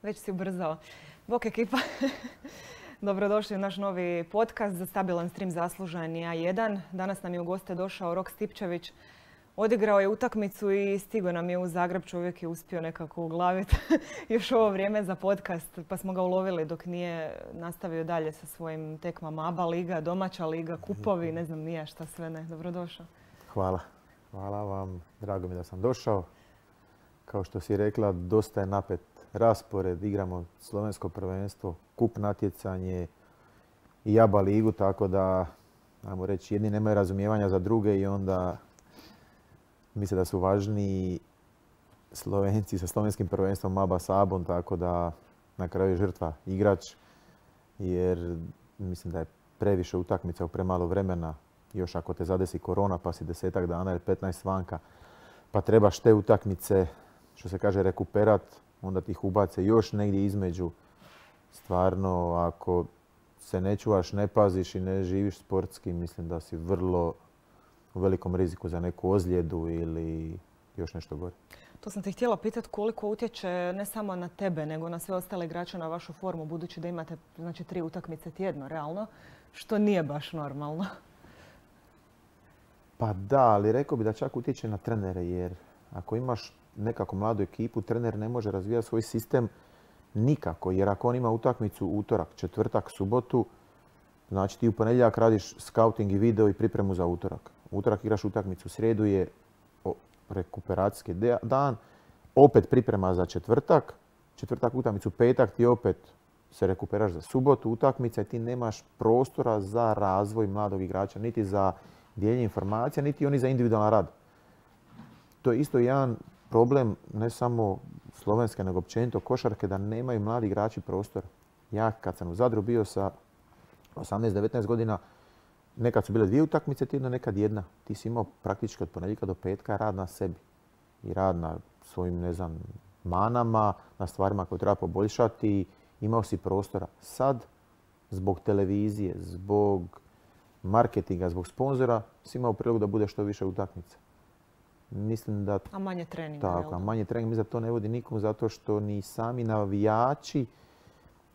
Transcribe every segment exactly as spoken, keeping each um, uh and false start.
Već si ubrzao. Bok ekipa. Dobrodošli u naš novi podcast za stabilan stream zaslužan je A jedan. Danas nam je u goste došao Rok Stipčević. Odigrao je utakmicu i stigao nam je u Zagreb. Čovjek je uspio nekako uglaviti još ovo vrijeme za podcast, pa smo ga ulovili dok nije nastavio dalje sa svojim tekmama. A B A liga, domaća liga, kupovi, ne znam nije šta sve ne. Dobrodošao. Hvala. Hvala vam. Drago mi da sam došao. Kao što si rekla, dosta je napet raspored. Igramo slovensko prvenstvo, kup natjecanje i A B A ligu, tako da, ajmo reći, jedni nemaju razumijevanja za druge i onda misle da su važniji Slovenci sa slovenskim prvenstvom A B A s A B om, tako da na kraju je žrtva igrač, jer mislim da je previše utakmica u premalo vremena. Još ako te zadesi korona pa si desetak dana ili petnaest vanka, pa trebaš te utakmice, što se kaže, rekuperat, onda ti ih ubace još negdje između. Stvarno, ako se ne čuvaš, ne paziš i ne živiš sportski, mislim da si vrlo u velikom riziku za neku ozljedu ili još nešto gore. To sam te htjela pitati koliko utječe ne samo na tebe, nego na sve ostale igrače, na vašu formu, budući da imate znači, tri utakmice tjedno, realno, što nije baš normalno. Pa da, ali rekao bi da čak utječe na trenere, jer ako imaš nekako mladu ekipu, trener ne može razvijati svoj sistem nikako, jer ako on ima utakmicu utorak, četvrtak, subotu, znači ti u ponedjeljak radiš scouting i video i pripremu za utorak. Utorak igraš utakmicu, srijedu je rekuperacijski dan, opet priprema za četvrtak, četvrtak utakmicu, petak ti opet se rekuperaš za subotu, utakmica i ti nemaš prostora za razvoj mladog igrača, niti za dijeljenje informacija, niti oni za individualan rad. To je isto jedan problem ne samo slovenske, nego općenito košarke, da nemaju mladi igrači prostora. Ja kad sam u Zadru bio sa osamnaest devetnaest godina, nekad su bile dvije utakmice tjedno, nekad jedna. Ti si imao praktički od ponedjeljka do petka rad na sebi. I rad na svojim, ne znam, manama, na stvarima koje treba poboljšati. Imao si prostora. Sad, zbog televizije, zbog marketinga, zbog sponzora, si imao priliku da bude što više utakmica. Mislim da... A manje treninga, tako, a manje treninga, mislim da to ne vodi nikom zato što ni sami navijači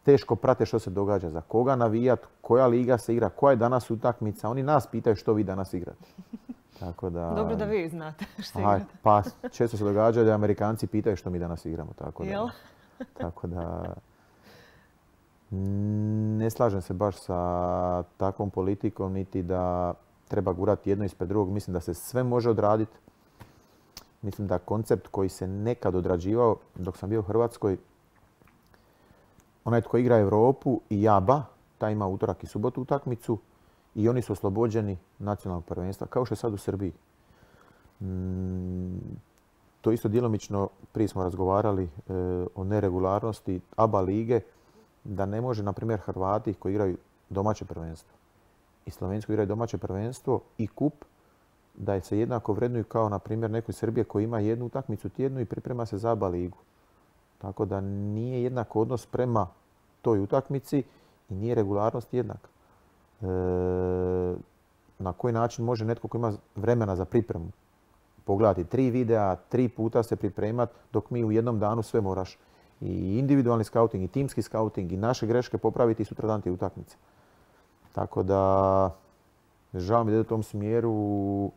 teško prate što se događa. Za koga navijat, koja liga se igra, koja je danas utakmica. Oni nas pitaju što vi danas igrate. Tako da... Dobro da vi znate što Aha, igrate. Pa često se događa da Amerikanci pitaju što mi danas igramo. Tako da, Jel? tako da ne slažem se baš sa takvom politikom, niti da treba gurati jedno ispred drugog. Mislim da se sve može odraditi. Mislim da koncept koji se nekad odrađivao dok sam bio u Hrvatskoj, onaj tko igra Europu i A B A, taj ima utorak i subotu utakmicu i oni su oslobođeni nacionalnog prvenstva, kao što je sad u Srbiji. Mm, to isto djelomično, prije smo razgovarali e, o neregularnosti A B A lige, da ne može, na primjer, Hrvati koji igraju domaće prvenstvo i Slovenci koji igraju domaće prvenstvo i kup, da se jednako vrednuju kao, na primjer, neko iz Srbije koji ima jednu utakmicu tjednu i priprema se za A B A ligu. Tako da nije jednak odnos prema toj utakmici i nije regularnost jednaka. E, na koji način može netko koji ima vremena za pripremu pogledati tri videa, tri puta se pripremati, dok mi u jednom danu sve moraš i individualni scouting i timski scouting i naše greške popraviti i sutradan ti utakmice. Tako da žao mi da ide u tom smjeru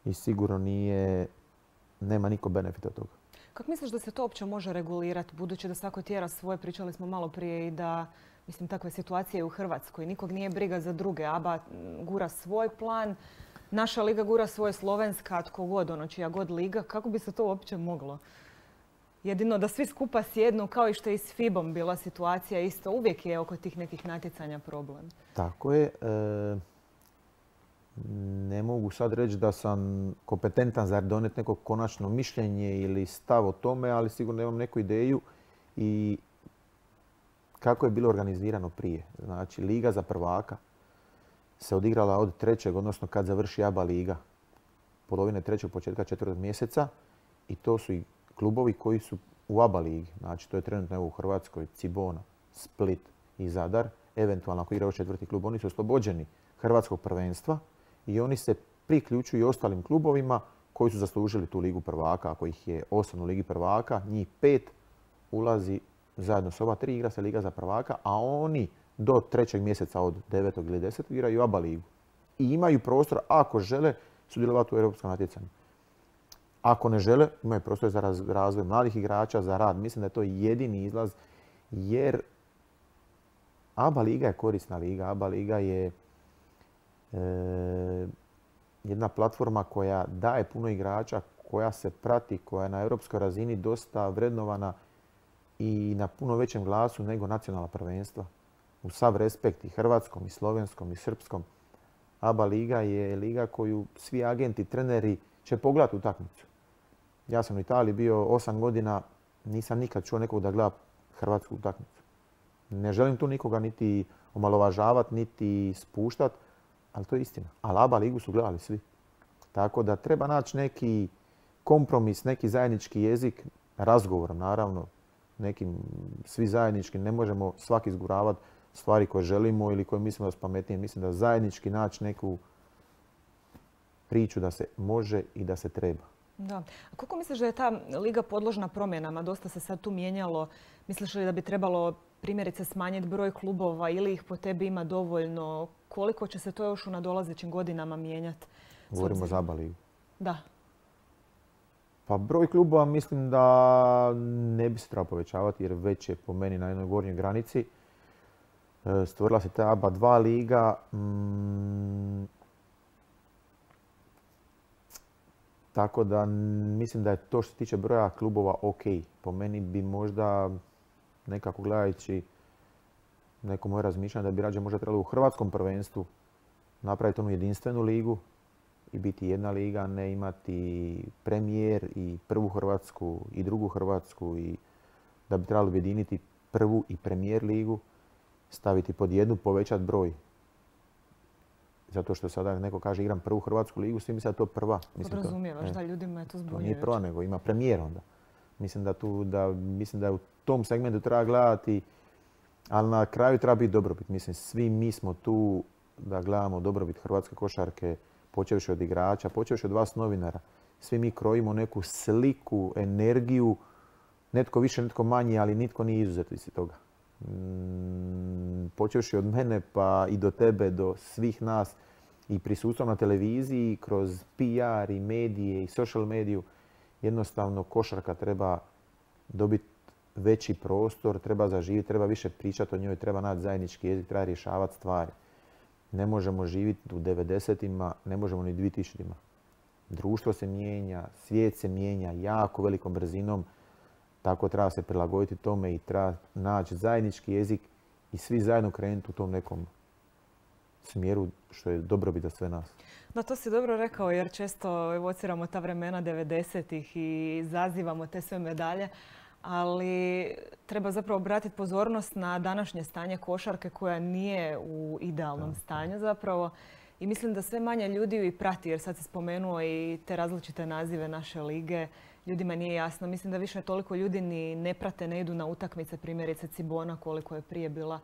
i sigurno nije, nema niko benefita od toga. Kako misliš da se to uopće može regulirati, budući da svako tjera svoje, pričali smo malo prije i da, mislim, takve situacije u Hrvatskoj. Nikog nije briga za druge. A B A gura svoj plan, naša liga gura svoje, slovenska, tko god, ono čija god liga. Kako bi se to uopće moglo? Jedino da svi skupa sjednu, kao i što je i s F I B om bila situacija isto. Uvijek je oko tih nekih natjecanja problem. Tako je. E, ne mogu sad reći da sam kompetentan za donijeti neko konačno mišljenje ili stav o tome, ali sigurno imam neku ideju i kako je bilo organizirano prije. Znači, Liga za prvaka se odigrala od trećeg, odnosno kad završi A B A liga, polovine trećeg, početka četvrtog mjeseca, i to su i klubovi koji su u A B A ligi. Znači, to je trenutno evo u Hrvatskoj Cibona, Split i Zadar. Eventualno ako igraju četvrti klub, oni su oslobođeni hrvatskog prvenstva i oni se priključuju i ostalim klubovima koji su zaslužili tu ligu prvaka. Ako ih je osam u ligi prvaka, njih pet ulazi zajedno s ova tri igra se Liga za prvaka, a oni do trećeg mjeseca od devetog ili desetog igraju ABA ligu. I imaju prostor, ako žele, sudjelovati u europskom natjecanju. Ako ne žele, imaju prostor za razvoj mladih igrača, za rad. Mislim da je to jedini izlaz, jer ABA liga je korisna liga. ABA liga je e, jedna platforma koja daje puno igrača, koja se prati, koja je na europskoj razini dosta vrednovana i na puno većem glasu nego nacionalna prvenstva. U sav respekt i hrvatskom, i slovenskom, i srpskom. ABA liga je liga koju svi agenti, treneri će pogledati utakmicu. Ja sam u Italiji bio osam godina, nisam nikad čuo nekog da gleda hrvatsku utakmicu. Ne želim tu nikoga niti omalovažavati, niti spuštati, ali to je istina. Ali ABA ligu su gledali svi. Tako da treba naći neki kompromis, neki zajednički jezik, razgovor naravno, nekim svi zajednički, ne možemo svaki izguravati stvari koje želimo ili koje mislimo da su pametnije. Mislim da zajednički naći neku priču da se može i da se treba. Da. A koliko misliš da je ta liga podložna promjenama? Dosta se sad tu mijenjalo. Misliš li da bi trebalo primjerice smanjiti broj klubova ili ih po tebi ima dovoljno? Koliko će se to još u nadolazećim godinama mijenjati? Govorimo za ABA ligu. Da. Pa broj klubova mislim da ne bi se trebao povećavati jer već je po meni na jednoj gornjoj granici. Stvorila se ta ABA dva liga. Mm, tako da mislim da je to što se tiče broja klubova ok. Po meni bi možda nekako gledajući neko moje razmišljanje da bi rađe možda trebalo u hrvatskom prvenstvu napraviti onu jedinstvenu ligu i biti jedna liga, ne imati premijer i prvu Hrvatsku i drugu Hrvatsku i da bi trebalo objediniti prvu i premijer ligu, staviti pod jednu, povećati broj. Zato što sada neko kaže igram prvu Hrvatsku ligu, svi misle da je to prva. Podrazumijevaš da ljudima je to zbunjujuće. To nije prva, nego ima premijer onda. Mislim da, tu, da, mislim da u tom segmentu treba gledati, ali na kraju treba biti dobrobit. Mislim, svi mi smo tu da gledamo dobrobit hrvatske košarke, počevši od igrača, počevši od vas novinara. Svi mi krojimo neku sliku, energiju, netko više, netko manje, ali nitko nije izuzet iz toga. Počevši od mene pa i do tebe, do svih nas i prisustvom na televiziji, kroz P R i medije i social mediju, jednostavno košarka treba dobiti veći prostor, treba zaživjeti, treba više pričati o njoj, treba naći zajednički jezik, treba rješavati stvari. Ne možemo živjeti u devedesetima, ne možemo ni dvitisućima. Društvo se mijenja, svijet se mijenja jako velikom brzinom, tako treba se prilagoditi tome i treba naći zajednički jezik i svi zajedno krenuti u tom nekom smjeru što je dobrobit za sve nas. Da, to si dobro rekao jer često evociramo ta vremena devedesetih i zazivamo te sve medalje, ali treba zapravo obratiti pozornost na današnje stanje košarke koja nije u idealnom stanju zapravo. I mislim da sve manje ljudi ju i prati jer sad si spomenuo i te različite nazive naše lige. Ljudima nije jasno. Mislim da više toliko ljudi ni ne prate, ne idu na utakmice. Primjerice Cibona koliko je prije bila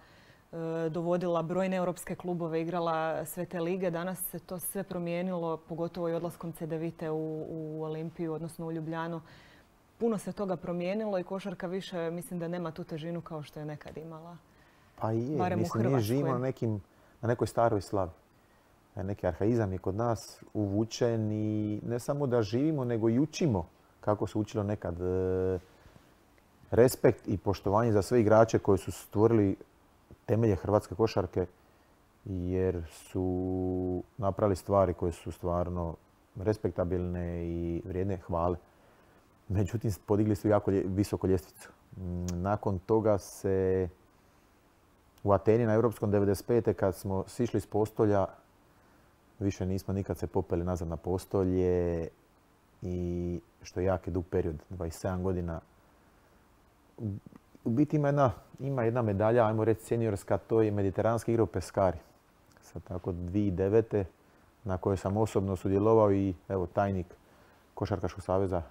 e, dovodila brojne europske klubove, igrala sve te lige. Danas se to sve promijenilo, pogotovo i odlaskom Cedevite u, u Olimpiju, odnosno u Ljubljanu. Puno se toga promijenilo i košarka više mislim da nema tu težinu kao što je nekad imala. Pa je, barem mislim mi živimo na, nekim, na nekoj staroj slavi. Neki arhaizam je kod nas uvučen i ne samo da živimo nego i učimo kako se učilo nekad. Respekt i poštovanje za sve igrače koji su stvorili temelje hrvatske košarke jer su napravili stvari koje su stvarno respektabilne i vrijedne hvale. Međutim, podigli su jako visoko ljestvicu. Nakon toga se u Ateni na Europskom devedeset pete kad smo sišli s postolja, više nismo nikad se popeli nazad na postolje i što je jako dug period, dvadeset sedam godina. U biti ima jedna, ima jedna medalja, ajmo reći seniorska, to je mediteranske igre u Peskari. Sad tako dvije tisuće devete na kojoj sam osobno sudjelovao i evo tajnik Košarkaškog saveza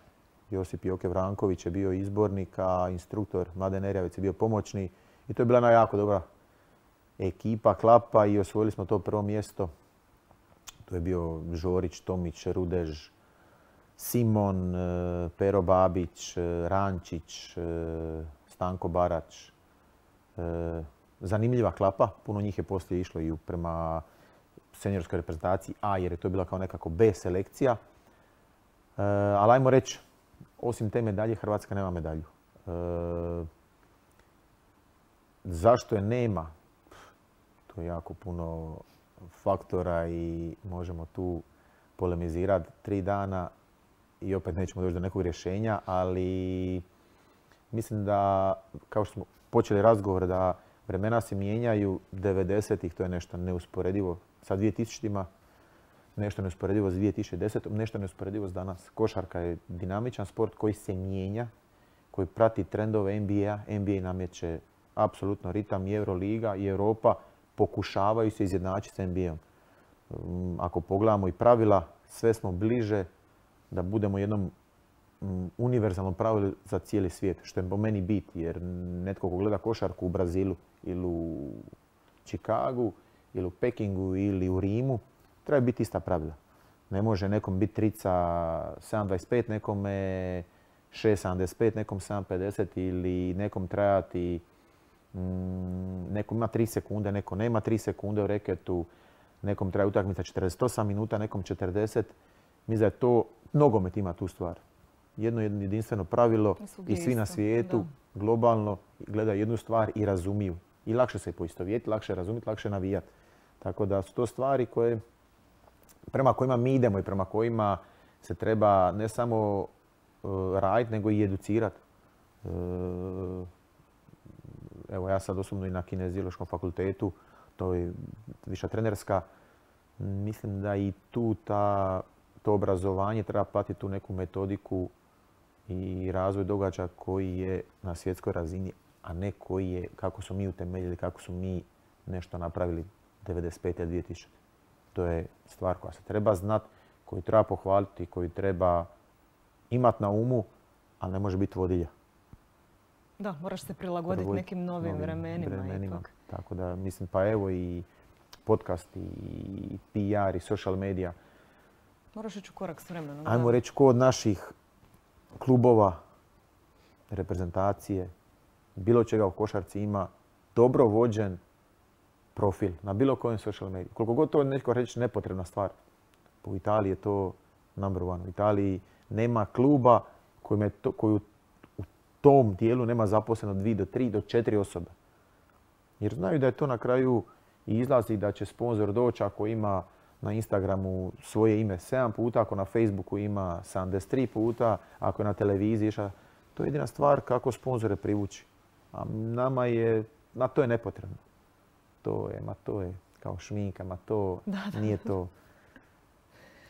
Josip Joke Vranković je bio izbornik, a instruktor Mladen Erjavec je bio pomoćni. I to je bila jedna jako dobra ekipa, klapa i osvojili smo to prvo mjesto. To je bio Žorić, Tomić, Rudež, Simon, Pero Babić, Rančić, Stanko Barač. Zanimljiva klapa, puno njih je poslije išlo i prema seniorskoj reprezentaciji A, jer je to bila kao nekako B selekcija. Ali ajmo reći, osim te medalje, Hrvatska nema medalju. Zašto je nema? To je jako puno faktora i možemo tu polemizirati tri dana i opet nećemo doći do nekog rješenja, ali mislim da, kao što smo počeli razgovor, da vremena se mijenjaju, devedesetih to je nešto neusporedivo sa dvije tisućima, nešto neusporedivo s dvije tisuće desetom, nešto neusporedivo s danas. Košarka je dinamičan sport koji se mijenja, koji prati trendove N B A. N B A namjeće apsolutno ritam i Euroliga i Europa pokušavaju se izjednačiti s N B A-om. Ako pogledamo i pravila, sve smo bliže da budemo jednom univerzalnom pravilu za cijeli svijet, što je po meni bit, jer netko ko gleda košarku u Brazilu ili u Chicagu ili u Pekingu ili u Rimu, treba biti ista pravila. Ne može nekom biti trica sedam dvadeset pet, nekome šest sedamdeset pet, nekom sedam pedeset ili nekom trajati, mm, nekom ima tri sekunde, neko nema tri sekunde u reketu, nekom traje utakmica četrdeset osam minuta, nekom četrdeset. Mislim da je to, nogomet ima tu stvar. Jedno jedinstveno pravilo i svi na svijetu da. globalno gledaju jednu stvar i razumiju. I lakše se poistovjetiti, lakše razumjeti, lakše navijati. Tako da su to stvari koje, prema kojima mi idemo i prema kojima se treba ne samo uh, raditi, nego i educirati. Uh, evo ja sad osobno i na Kineziološkom fakultetu, to je viša trenerska, mislim da i tu ta, to obrazovanje treba platiti tu neku metodiku i razvoj događaja koji je na svjetskoj razini, a ne koji je, kako su mi utemeljili, kako su mi nešto napravili devedeset pete dvije tisućite. To je stvar koja se treba znati, koju treba pohvaliti, koju treba imati na umu, ali ne može biti vodilja. Da, moraš se prilagoditi nekim novim, novim vremenima. vremenima. Ipak. Tako da mislim, pa evo i podcast, i P R, i social media. Moraš ići u korak s vremenom. Ajmo reći, ko od naših klubova, reprezentacije, bilo čega u košarci ima dobro vođen profil na bilo kojem social mediju. Koliko god to je netko reći nepotrebna stvar. U Italiji je to number one. U Italiji nema kluba koji to, koju u tom dijelu nema zaposleno dvije do tri do četiri osobe. Jer znaju da je to na kraju i izlazi da će sponzor doći ako ima na Instagramu svoje ime sedam puta, ako na Facebooku ima sedamdeset tri puta, ako je na televiziji. To je jedina stvar kako sponzore privući. A nama je, na to je nepotrebno. To je, ma to je kao šminka, ma to da, da. nije to.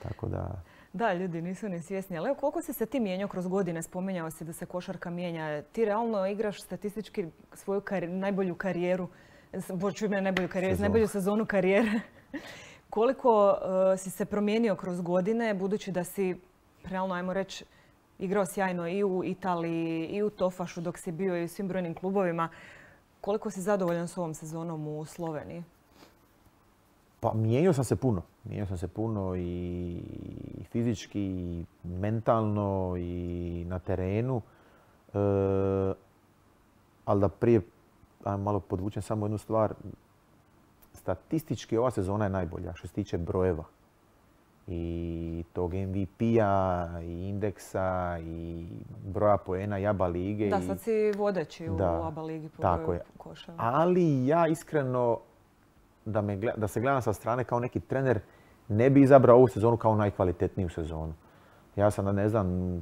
Tako da... Da, ljudi nisu ni svjesni. Ali evo, koliko si se ti mijenjao kroz godine? Spominjao si da se košarka mijenja. Ti realno igraš statistički svoju kari- najbolju karijeru, boću ime najbolju karijeru, najbolju sezonu karijere. Koliko uh, si se promijenio kroz godine, budući da si, realno ajmo reći, igrao sjajno i u Italiji, i u Tofašu dok si bio i u svim brojnim klubovima. Koliko si zadovoljan s ovom sezonom u Sloveniji? Pa mijenjao sam se puno. Mijenjao sam se puno i fizički, i mentalno, i na terenu. E, ali da prije, ajmo malo podvučem samo jednu stvar. Statistički ova sezona je najbolja što se tiče brojeva. I tog M V P-a, i indeksa, i broja poena i A B A lige. Da, sad si vodeći u da, A B A ligi po broju koševa. Ali ja iskreno, da, me, da se gledam sa strane kao neki trener, ne bi izabrao ovu sezonu kao najkvalitetniju sezonu. Ja sam, ne znam,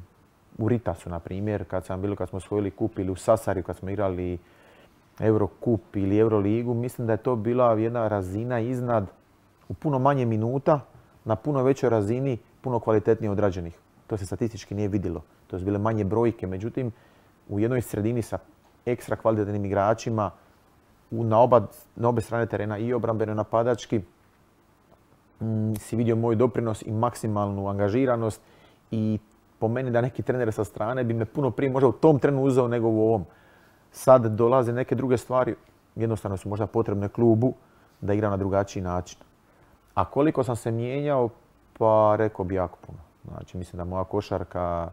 u Ritasu, na primjer, kad sam bilo, kad smo osvojili kup, ili u Sasariju, kad smo igrali Eurokup ili Euroligu, mislim da je to bila jedna razina iznad, u puno manje minuta, na puno većoj razini, puno kvalitetnije odrađenih. To se statistički nije vidjelo. To su bile manje brojke. Međutim, u jednoj sredini sa ekstra kvalitetnim igračima, na, oba, na obe strane terena, i obrambeno napadački, m, si vidio moj doprinos i maksimalnu angažiranost. I po meni da neki trener sa strane bi me puno prije možda u tom trenu uzeo nego u ovom. Sad dolaze neke druge stvari, jednostavno su možda potrebne klubu da igra na drugačiji način. A koliko sam se mijenjao, pa rekao bi jako puno. Znači, mislim da moja košarka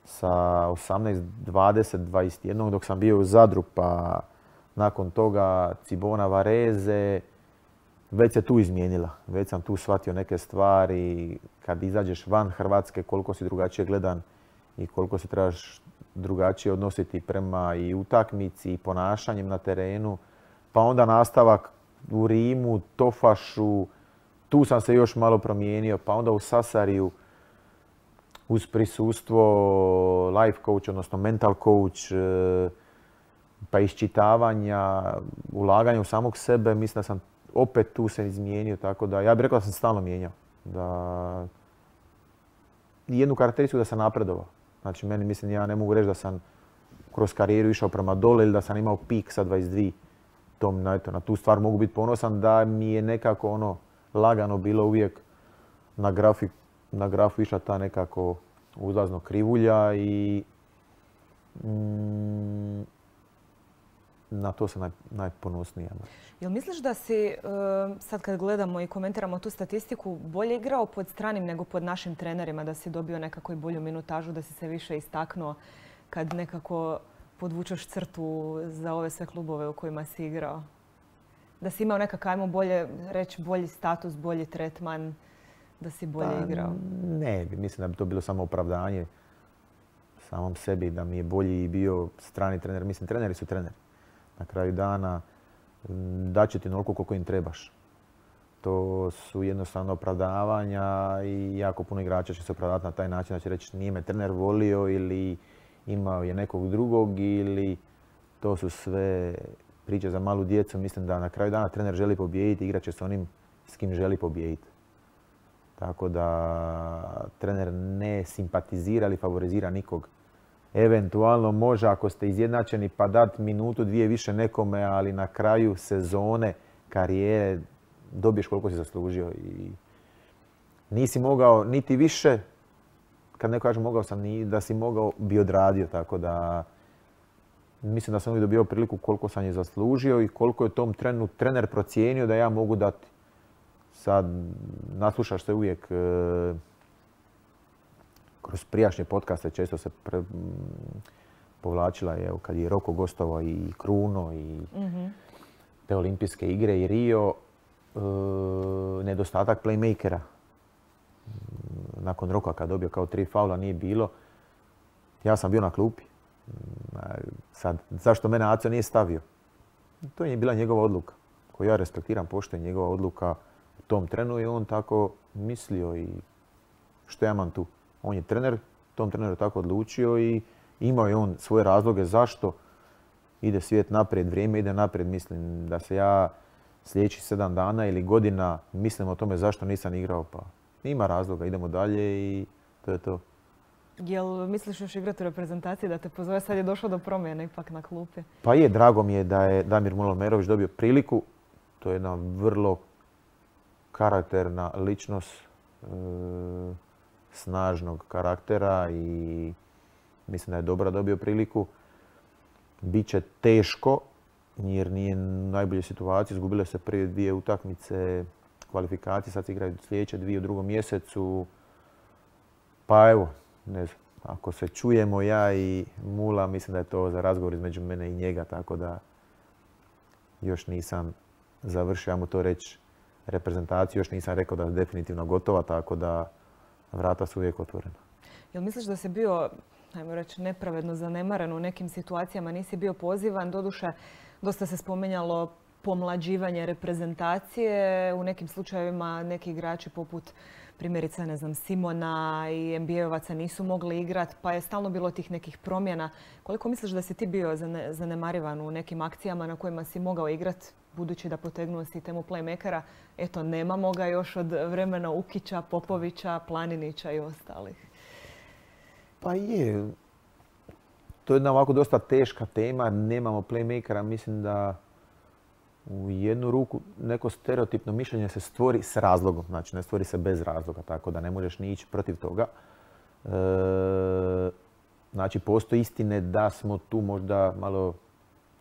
sa osamnaest, dvadeset, dvadeset jedan dok sam bio u Zadru, pa nakon toga Cibona Varese, već se tu izmijenila. Već sam tu shvatio neke stvari. Kad izađeš van Hrvatske, koliko si drugačije gledan i koliko se trebaš drugačije odnositi prema i utakmici i ponašanjem na terenu. Pa onda nastavak u Rimu, Tofašu, tu sam se još malo promijenio, pa onda u Sasariju uz prisustvo life coach, odnosno mental coach, pa iščitavanja, ulaganja u samog sebe, mislim da sam opet tu se izmijenio, tako da ja bih rekao da sam stalno mijenjao. Da jednu karakteristiku da sam napredovao. Znači, meni mislim, ja ne mogu reći da sam kroz karijeru išao prema dole ili da sam imao pik sa dvadeset dvije. Tom, na, eto, na tu stvar mogu biti ponosan da mi je nekako ono lagano bilo uvijek na, grafi, na grafu išla ta nekako uzlazno krivulja i mm, na to sam naj, najponosnija. Jel misliš da si, sad kad gledamo i komentiramo tu statistiku, bolje igrao pod stranim nego pod našim trenerima, da si dobio nekako i bolju minutažu, da si se više istaknuo kad nekako podvučeš crtu za ove sve klubove u kojima si igrao? Da si imao nekako, ajmo bolje reći, bolji status, bolji tretman, da si bolje pa, igrao? Ne, mislim da bi to bilo samo opravdanje samom sebi, da mi je bolji bio strani trener. Mislim, treneri su treneri. Na kraju dana daće ti onoliko koliko im trebaš. To su jednostavno opravdavanja i jako puno igrača će se opravdati na taj način da će reći nije me trener volio ili imao je nekog drugog ili to su sve priče za malu djecu. Mislim da na kraju dana trener želi pobijediti, igrat će s onim s kim želi pobijediti. Tako da trener ne simpatizira ili favorizira nikog. Eventualno može ako ste izjednačeni pa dati minutu, dvije više nekome, ali na kraju sezone, karijere dobiješ koliko si zaslužio. I nisi mogao niti više, kad neko kaže mogao sam, da si mogao bi odradio. Tako da mislim da sam uvijek dobio priliku koliko sam je zaslužio i koliko je tom trenu trener procijenio da ja mogu dati. Sad naslušaš se uvijek kroz prijašnje podcaste, često se pre, povlačila, evo, kad je Roko gostovao i Kruno i mm-hmm. te olimpijske igre i Rio, e, nedostatak playmakera. Nakon Roka kad dobio kao tri faula nije bilo, ja sam bio na klupi. Sad, zašto mene Aco nije stavio? To je bila njegova odluka, koju ja respektiram, poštujem njegova odluka u tom trenu i on tako mislio i što ja imam tu. On je trener, tom treneru tako odlučio i imao je on svoje razloge zašto ide svijet naprijed, vrijeme ide naprijed. Mislim da se ja sljedećih sedam dana ili godina mislim o tome zašto nisam igrao, pa ima razloga, idemo dalje i to je to. Jel misliš još igrati u reprezentaciji da te pozove? Sad je došlo do promjene ipak na klupi. Pa je, drago mi je da je Damir Mulomerović dobio priliku. To je jedna vrlo karakterna ličnost. E, snažnog karaktera i mislim da je dobro dobio priliku. Biće teško jer nije u najboljoj situaciji. Izgubile se prije dvije utakmice kvalifikacije, sad se igraju sljedeće dvije u drugom mjesecu. Pa evo, ne znam, ako se čujemo ja i Mula, mislim da je to za razgovor između mene i njega, tako da još nisam završio, ja mu to reći, reprezentaciju, još nisam rekao da je definitivno gotova, tako da vrata su uvijek otvorena. Jel misliš da si bio, ajmo reći, nepravedno zanemaren u nekim situacijama, nisi bio pozivan? Doduše, dosta se spominjalo pomlađivanje reprezentacije. U nekim slučajevima neki igrači poput primjerice, ne znam, Simona i en be a-ovaca nisu mogli igrati, pa je stalno bilo tih nekih promjena. Koliko misliš da si ti bio zanemarivan u nekim akcijama na kojima si mogao igrati, budući da potegnuo si temu playmakera? Eto, nemamo ga još od vremena Ukića, Popovića, Planinića i ostalih. Pa je. To je jedna ovako dosta teška tema. Nemamo playmakera. Mislim da u jednu ruku neko stereotipno mišljenje se stvori s razlogom. Znači, ne stvori se bez razloga, tako da ne možeš ni ići protiv toga. E, znači, postoji istine da smo tu možda malo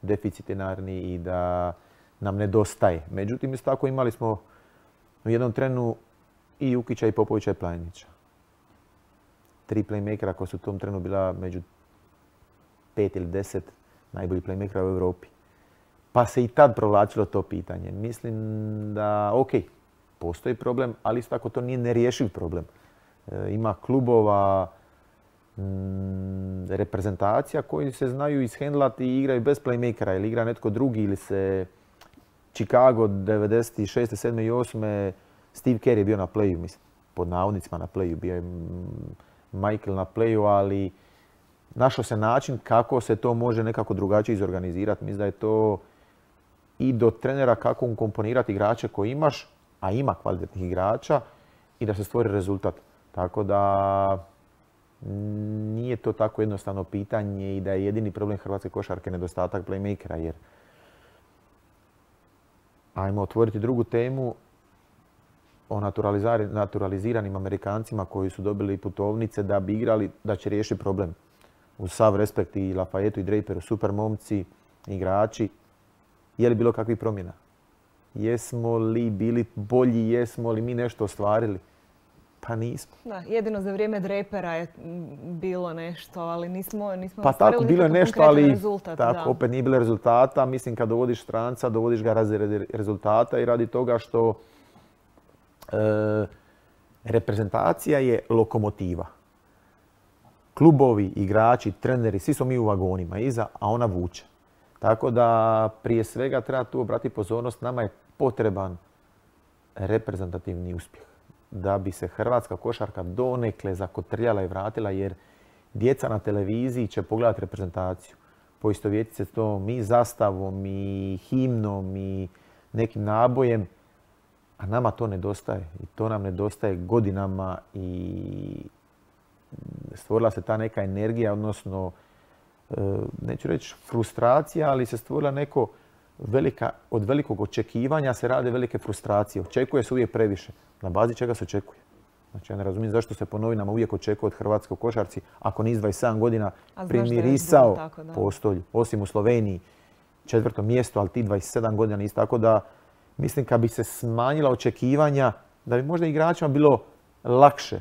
deficitarni i da nam nedostaje. Međutim, isto tako imali smo u jednom trenu i Ukića i Popovića i Planinića. tri playmakera koja su u tom trenu bila među pet ili deset najboljih playmakera u Europi. Pa se i tad provlačilo to pitanje. Mislim da, ok, postoji problem, ali isto tako to nije nerješiv problem. E, ima klubova, m, reprezentacija koji se znaju ishendlati i igraju bez playmakera ili igra netko drugi ili se Chicago devedeset šeste, sedme i osme Steve Kerr je bio na playu, mislim, pod navodnicima na playu, bio je Michael na playu, ali našao se način kako se to može nekako drugačije izorganizirati. Mislim da je to i do trenera kako ukomponirati igrače koje imaš, a ima kvalitetnih igrača, i da se stvori rezultat. Tako da nije to tako jednostavno pitanje i da je jedini problem hrvatske košarke nedostatak playmakera, jer ajmo otvoriti drugu temu o naturaliziranim Amerikancima koji su dobili putovnice da bi igrali, da će riješiti problem. Uz sav respekt i Lafayetu i Draperu, super momci, igrači. Je li bilo kakvih promjena? Jesmo li bili bolji, jesmo li mi nešto ostvarili? Pa nismo. Da, jedino za vrijeme Drapera je bilo nešto, ali nismo, nismo pa ostvarili tako, bilo je nešto, ali rezultat. Tako, da. Opet nije bilo rezultata. Mislim, kad dovodiš stranca, dovodiš ga radi rezultata i radi toga što e, reprezentacija je lokomotiva. Klubovi, igrači, treneri, svi smo mi u vagonima iza, a ona vuče. Tako da prije svega treba tu obratiti pozornost, nama je potreban reprezentativni uspjeh da bi se hrvatska košarka donekle zakotrljala i vratila, jer djeca na televiziji će pogledati reprezentaciju. Poistovjetiti se to mi zastavom i himnom i nekim nabojem, a nama to nedostaje. I to nam nedostaje godinama i stvorila se ta neka energija, odnosno neću reći frustracija, ali se stvorila neko velika, od velikog očekivanja se rade velike frustracije. Očekuje se uvijek previše. Na bazi čega se očekuje? Znači, ja ne razumijem zašto se po novinama uvijek očekuje od hrvatskog košarci, ako niz dvadeset sedam godina primirisao postolju. Osim u Sloveniji, četvrto mjesto, ali ti dvadeset sedam godina nisi. Tako da, mislim, kad bi se smanjila očekivanja, da bi možda igračima bilo lakše,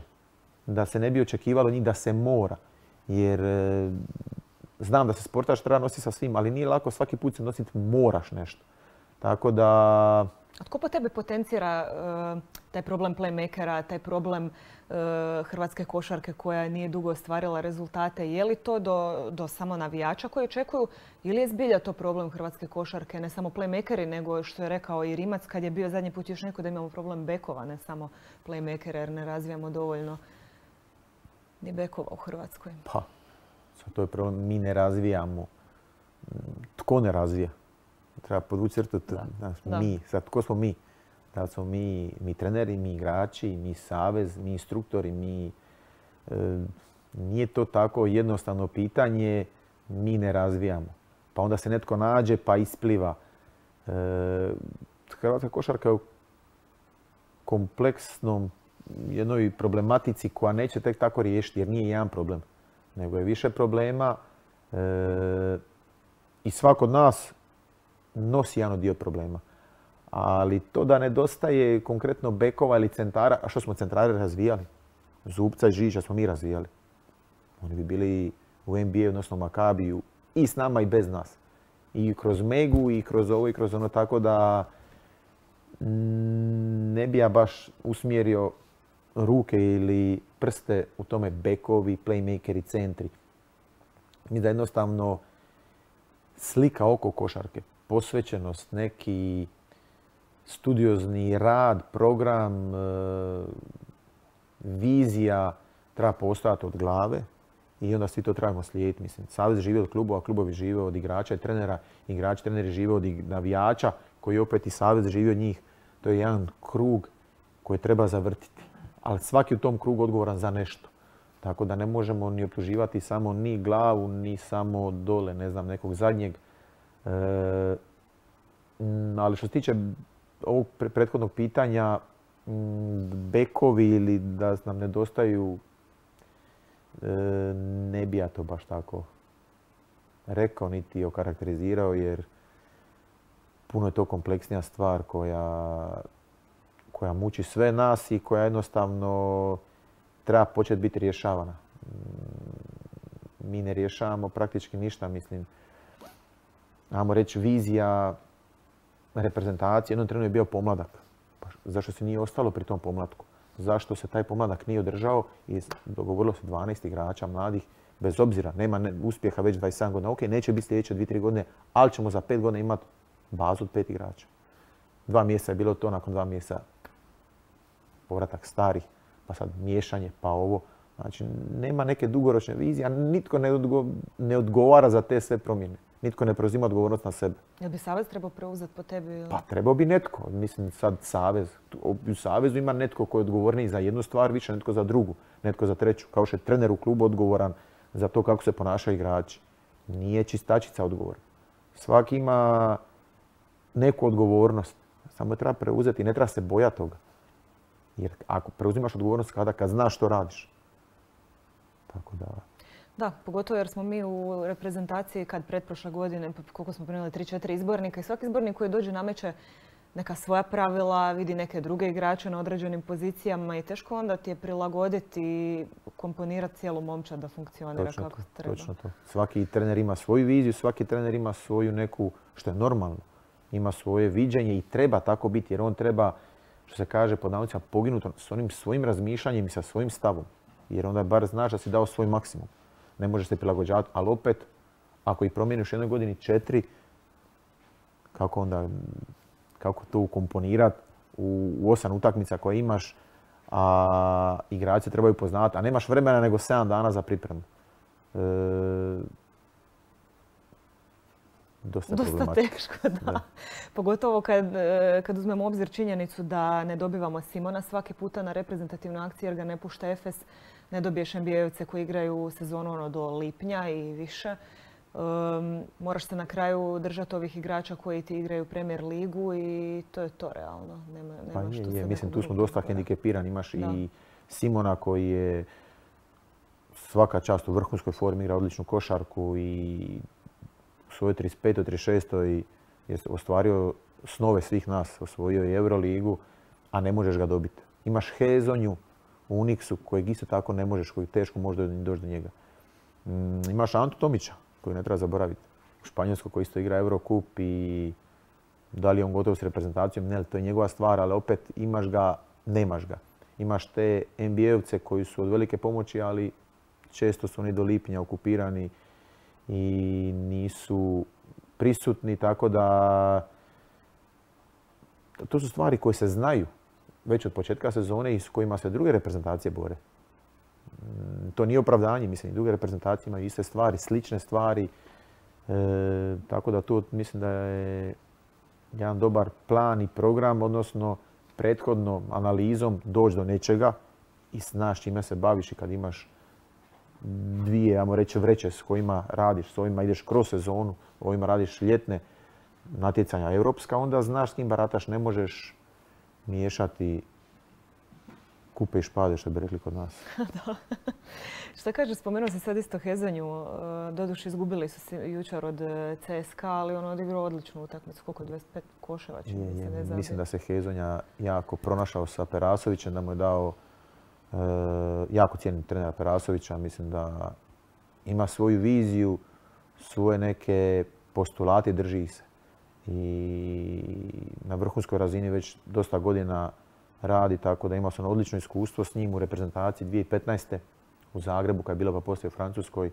da se ne bi očekivalo njih da se mora. Jer znam da se sportaš treba nositi sa svim, ali nije lako svaki put se nositi, moraš nešto. Tako da... A tko po tebi potencira uh, taj problem playmakera, taj problem uh, hrvatske košarke koja nije dugo ostvarila rezultate? Je li to do, do samo navijača koji očekuju ili je zbilja to problem hrvatske košarke, ne samo playmakeri, nego što je rekao i Rimac kad je bio zadnji put još neko da imamo problem bekova, ne samo playmakera jer ne razvijamo dovoljno ni bekova u Hrvatskoj? Pa, to je problem, mi ne razvijamo. Tko ne razvija? Treba podvući crtu, mi. Sad, tko smo mi? Da smo mi, mi treneri, mi igrači, mi savez, mi instruktori, mi... E, nije to tako jednostavno pitanje, mi ne razvijamo. Pa onda se netko nađe pa ispliva. E, Hrvatska košarka je u kompleksnom jednoj problematici koja neće tek tako riješiti, jer nije jedan problem, nego je više problema e, i svako od nas nosi jedan dio problema. Ali to da nedostaje konkretno bekova ili centara, a što smo centrare razvijali? Zubca i Žiža smo mi razvijali. Oni bi bili u N B A, odnosno Makabiju, i s nama i bez nas. I kroz Megu, i kroz ovo, i kroz ono, tako da ne bi ja baš usmjerio ruke ili prste u tome bekovi, playmakeri, centri. Mi da jednostavno slika oko košarke, posvećenost, neki studiozni rad, program, vizija treba postojati od glave i onda svi to trebamo slijediti. Mislim, savez živi od klubova, klubovi žive od igrača i trenera, igrači, treneri žive od navijača koji opet i savez živi od njih. To je jedan krug koji treba zavrtiti. Ali svaki u tom krugu odgovoran za nešto. Tako da ne možemo ni optuživati samo ni glavu, ni samo dole, ne znam, nekog zadnjeg. E, ali što se tiče ovog prethodnog pitanja, bekovi ili da nam nedostaju, e, ne bi ja to baš tako rekao niti okarakterizirao, jer puno je to kompleksnija stvar koja, koja muči sve nas i koja jednostavno treba početi biti rješavana. mi ne rješavamo praktički ništa, mislim. Ajmo reći, vizija reprezentacije. Jednom trenu je bio pomladak. Pa zašto se nije ostalo pri tom pomlatku? Zašto se taj pomladak nije održao i dogovorilo se dvanaest igrača mladih, bez obzira, nema ne, uspjeha već dvadeset sedam godina. Ok, neće biti sljedeće dvije tri godine, ali ćemo za pet godina imati bazu od pet igrača. Dva mjeseca je bilo to, nakon dva mjeseca povratak starih, pa sad miješanje, pa ovo. Znači, nema neke dugoročne vizije, a nitko ne, odgo, ne odgovara za te sve promjene. Nitko ne preuzima odgovornost na sebe. Jel bi savez trebao preuzeti po tebi? Ili? Pa trebao bi netko. Mislim, sad savez. U savezu ima netko koji je odgovorniji za jednu stvar, više netko za drugu, netko za treću. Kao što je trener u klubu odgovoran za to kako se ponašaju igrači. Nije čistačica odgovoran. Svaki ima neku odgovornost. Samo je treba preuzeti i ne treba se bojati toga. Jer ako preuzimaš odgovornost kada kad znaš što radiš. Tako da... Da, pogotovo jer smo mi u reprezentaciji kad pretprošle godine, koliko smo primili, tri četiri izbornika i svaki izbornik koji dođe nameće neka svoja pravila, vidi neke druge igrače na određenim pozicijama i teško onda ti je prilagoditi i komponirati cijelu momčad da funkcionira točno kako to, treba. Točno to. Svaki trener ima svoju viziju, svaki trener ima svoju neku, što je normalno, ima svoje viđenje i treba tako biti jer on treba, što se kaže pod navodnicima, poginuti s onim svojim razmišljanjem i sa svojim stavom. Jer onda bar znaš da si dao svoj maksimum. Ne možeš se prilagođavati, ali opet, ako ih promijeniš u jednoj godini četiri, kako onda, kako to ukomponirati u, u osam utakmica koje imaš, a igrači trebaju poznati, a nemaš vremena nego sedam dana za pripremu. E, dosta Dosta teško, da. da. Pogotovo kad, kad uzmemo u obzir činjenicu da ne dobivamo Simona svaki puta na reprezentativnu akciju jer ga ne pušta Efes. Ne dobiješ N B A-ovce koji igraju sezonu ono do lipnja i više. Um, moraš se na kraju držati ovih igrača koji ti igraju Premier ligu i to je to realno. Nema, nema pa je, što je. se Mislim, tu smo dosta govora. hendikepirani. Imaš da. i Simona koji je svaka čast u vrhunskoj formi, igra odličnu košarku i u svojoj trideset petoj trideset šestoj je ostvario snove svih nas. Osvojio je Euroligu, a ne možeš ga dobiti. Imaš Hezonju u Unixu kojeg isto tako ne možeš, koji teško može doći do njega. Mm, imaš Antu Tomića koji ne treba zaboraviti. U Španjolskoj koji isto igra Eurocup i da li je on gotov s reprezentacijom, ne, to je njegova stvar, ali opet imaš ga, nemaš ga. Imaš te N B A-ovce koji su od velike pomoći, ali često su oni do lipnja okupirani i nisu prisutni, tako da to su stvari koje se znaju već od početka sezone i s kojima se druge reprezentacije bore. To nije opravdanje, mislim, druge reprezentacije imaju iste stvari, slične stvari. E, tako da tu mislim da je jedan dobar plan i program, odnosno prethodno analizom doći do nečega i znaš čime se baviš i kad imaš dvije, ajmo reći, vreće s kojima radiš, s ovima ideš kroz sezonu, ovima radiš ljetne natjecanja europska, onda znaš s kim barataš, ne možeš miješati kupe i špade, što bi rekli kod nas. Da. Šta kažeš, spomenuo si sad isto Hezonju. Doduše izgubili su se jučer od C S K A, ali on odigrao odličnu utakmicu. Koliko? dvadeset pet koševa će mi se ne zabije. Mislim da se Hezonja jako pronašao sa Perasovićem, da mu je dao e, jako cijenim trenera Perasovića. Mislim da ima svoju viziju, svoje neke postulate, drži ih se. I na vrhunskoj razini već dosta godina radi, tako da imao sam odlično iskustvo s njim u reprezentaciji dvije tisuće petnaeste. u Zagrebu, kad je bilo pa poslije u Francuskoj. E,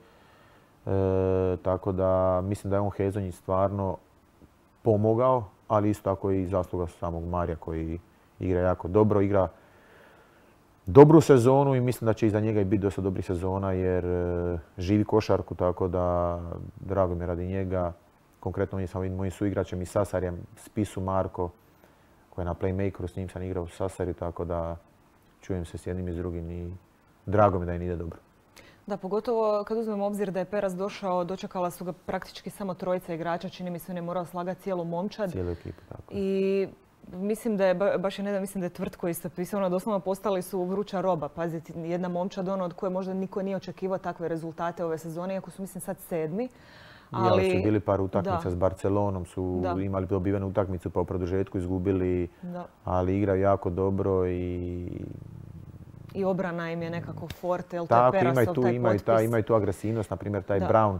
tako da mislim da je on Hezonji stvarno pomogao, ali isto tako i zasluga samog Marija koji igra jako dobro, igra dobru sezonu i mislim da će iza njega i biti dosta dobrih sezona jer e, živi košarku, tako da drago mi je radi njega. Konkretno on je sa ovim mojim suigračem i Sasarjem, Spisu Marko, koji je na playmakeru, s njim sam igrao u Sasarju, tako da čujem se s jednim i s drugim i drago mi da im ide dobro. Da, pogotovo kad uzmemo obzir da je Peras došao, dočekala su ga praktički samo trojica igrača, čini mi se on je morao slagati cijelu momčad. Cijelu ekipu, tako. I mislim da je, baš je ne da mislim da je Tvrtko isto pisao, ono doslovno postali su vruća roba. Pazite, jedna momčad ono od koje možda niko nije očekivao takve rezultate ove sezone, iako su mislim sad sedmi. Ali ja, su bili par utakmica da. S Barcelonom, su da. imali dobivenu utakmicu, pa u produžetku izgubili, da. Ali igraju jako dobro i i obrana im je nekako forte, jel to Tako, je Perasov ima tu, taj ima potpis. ta, ima i tu agresivnost, na primjer taj Da. Brown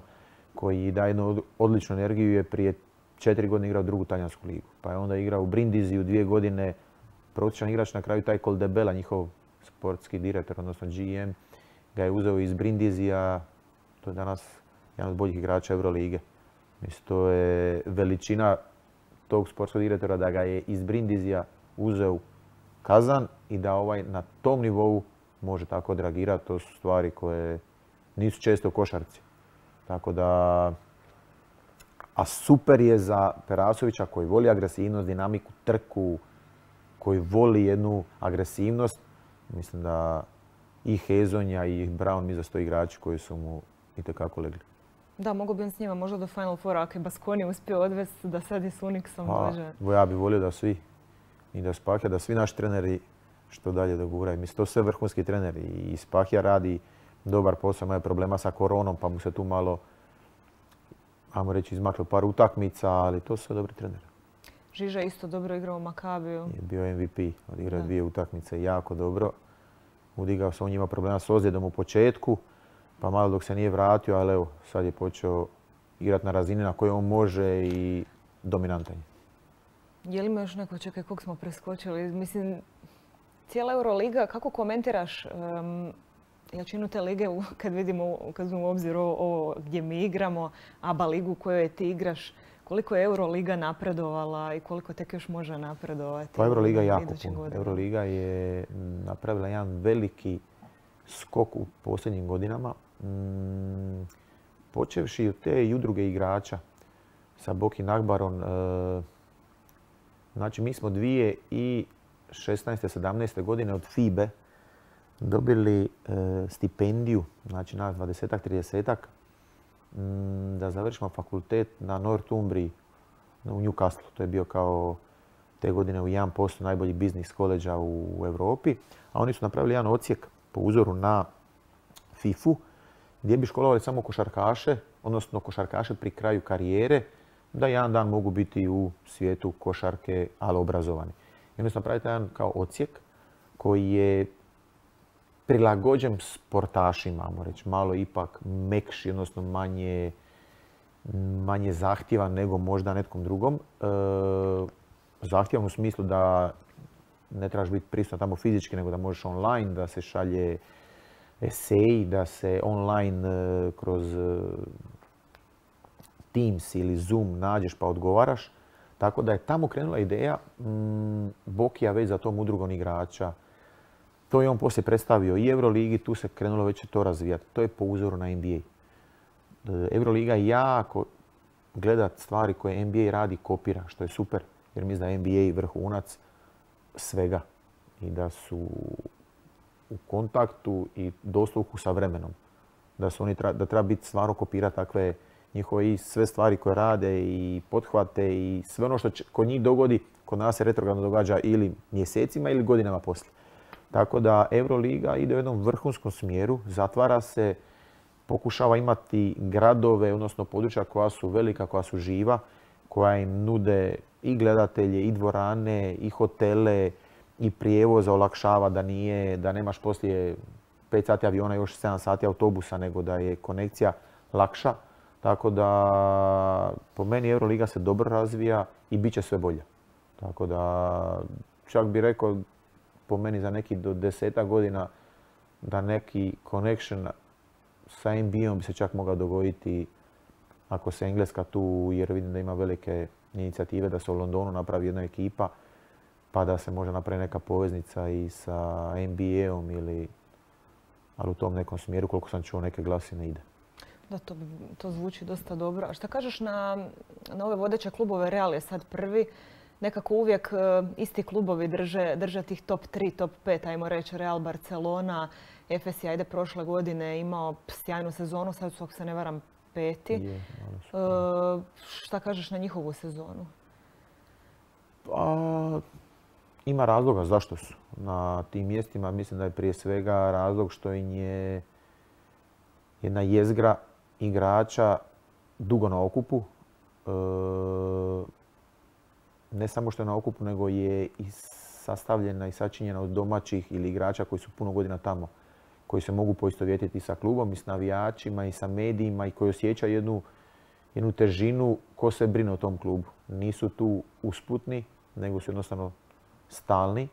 koji daje jednu odličnu energiju je prije četiri godine igrao drugu talijansku ligu. Pa je onda igrao u Brindiziju dvije godine, prosječan igrač, na kraju taj Coldebella, njihov sportski direktor, odnosno G M, ga je uzeo iz Brindizija, to je danas jedan od boljih igrača Eurolige. Mislim, to je veličina tog sportskog direktora da ga je iz Brindizija uzeo Kazan i da ovaj na tom nivou može tako odreagirati. To su stvari koje nisu često u košarci. Tako da, a super je za Perasovića koji voli agresivnost, dinamiku, trku, koji voli jednu agresivnost. Mislim da i Hezonja i Brown mi za sto igrači koji su mu itekako legli. Da, mogu bi on s njima možda do Final Foura ako je Baskoni uspio odvesti da sad i s Unixom dođe. Pa, ja bih volio da svi, i da Spahija, da svi naši treneri što dalje doguraju. Mislim, to su sve vrhunski treneri i Spahija radi dobar posao, ima je problema sa koronom pa mu se tu malo, ajmo reći, izmaklo par utakmica, ali to su sve dobri treneri. Žiža isto dobro igrao u Makabiju. Je bio M V P, odigrao dvije utakmice jako dobro. Udigao se, on ima problema s ozljedom u početku, pa malo dok se nije vratio, ali evo, sad je počeo igrati na razini na kojoj on može i dominantan je. Je li ima još neko, čekaj, kog smo preskočili? Mislim, cijela Euroliga, kako komentiraš um, jačinu te lige kad vidimo, kad uzmemo u obzir ovo, ovo gdje mi igramo, A B A ligu u kojoj ti igraš, koliko je Euroliga napredovala i koliko tek još može napredovati? Pa Euroliga je jako puno. Euroliga je napravila jedan veliki skok u posljednjim godinama. Mm, počevši od te i udruge igrača sa Boki Nagbarom. E, znači, mi smo dvije tisuće šesnaeste sedamnaeste godine od F I B E dobili e, stipendiju, znači nas dvadesetak tridesetak, m, da završimo fakultet na Northumbriji u Newcastle. To je bio kao te godine u jedan posto najboljih biznis koleđa u Europi. A oni su napravili jedan odsjek po uzoru na FIFU gdje bi školovali samo košarkaše, odnosno košarkaše pri kraju karijere, da jedan dan mogu biti u svijetu košarke, ali obrazovani. I onda su napravili jedan kao odsjek koji je prilagođen sportašima, ajmo reći, malo ipak mekši, odnosno manje, manje zahtjevan nego možda netkom drugom. E, zahtjevan u smislu da ne trebaš biti prisutan tamo fizički, nego da možeš online, da se šalje esej, da se online e, kroz e, Teams ili Zoom nađeš pa odgovaraš. Tako da je tamo krenula ideja m, Bokija već za tom udrugom igrača. To je on poslije predstavio i Euroligi, tu se krenulo već to razvijati. To je po uzoru na N B A. Euroliga jako gleda stvari koje N B A radi, kopira, što je super. Jer mislim da je N B A vrhunac svega i da su u kontaktu i dosluhu sa vremenom. Da, su oni, da treba biti stvarno kopirati takve njihove i sve stvari koje rade i pothvate i sve ono što će kod njih dogodi, kod nas se retrogradno događa ili mjesecima ili godinama poslije. Tako da Euroliga ide u jednom vrhunskom smjeru, zatvara se, pokušava imati gradove, odnosno područja koja su velika, koja su živa, koja im nude i gledatelje, i dvorane, i hotele, i prijevoza, olakšava da nije, da nemaš poslije pet sati aviona, još sedam sati autobusa, nego da je konekcija lakša. Tako da po meni Euroliga se dobro razvija i bit će sve bolje. Tako da čak bih rekao po meni za neki do desetak godina da neki connection sa N B A-om bi se čak mogao dogoditi ako se Engleska tu, jer vidim da ima velike inicijative da se u Londonu napravi jedna ekipa pa da se može napraviti neka poveznica i sa N B A-om ili, ali u tom nekom smjeru koliko sam čuo neke glasine ide. Da, to, to zvuči dosta dobro. A šta kažeš na, na ove vodeće klubove? Real je sad prvi. Nekako uvijek uh, isti klubovi drže, drže tih top tri, top pet, ajmo reći Real, Barcelona. F S je ajde prošle godine imao sjajnu sezonu, sad su, ako se ne varam, peti. Je, uh, šta kažeš na njihovu sezonu? Pa, ima razloga zašto su na tim mjestima. Mislim da je prije svega razlog što im je jedna jezgra igrača dugo na okupu. E, ne samo što je na okupu, nego je i sastavljena i sačinjena od domaćih ili igrača koji su puno godina tamo, koji se mogu poistovjetiti sa klubom i s navijačima i sa medijima i koji osjećaju jednu, jednu težinu ko se brine o tom klubu. Nisu tu usputni, nego su jednostavno stalni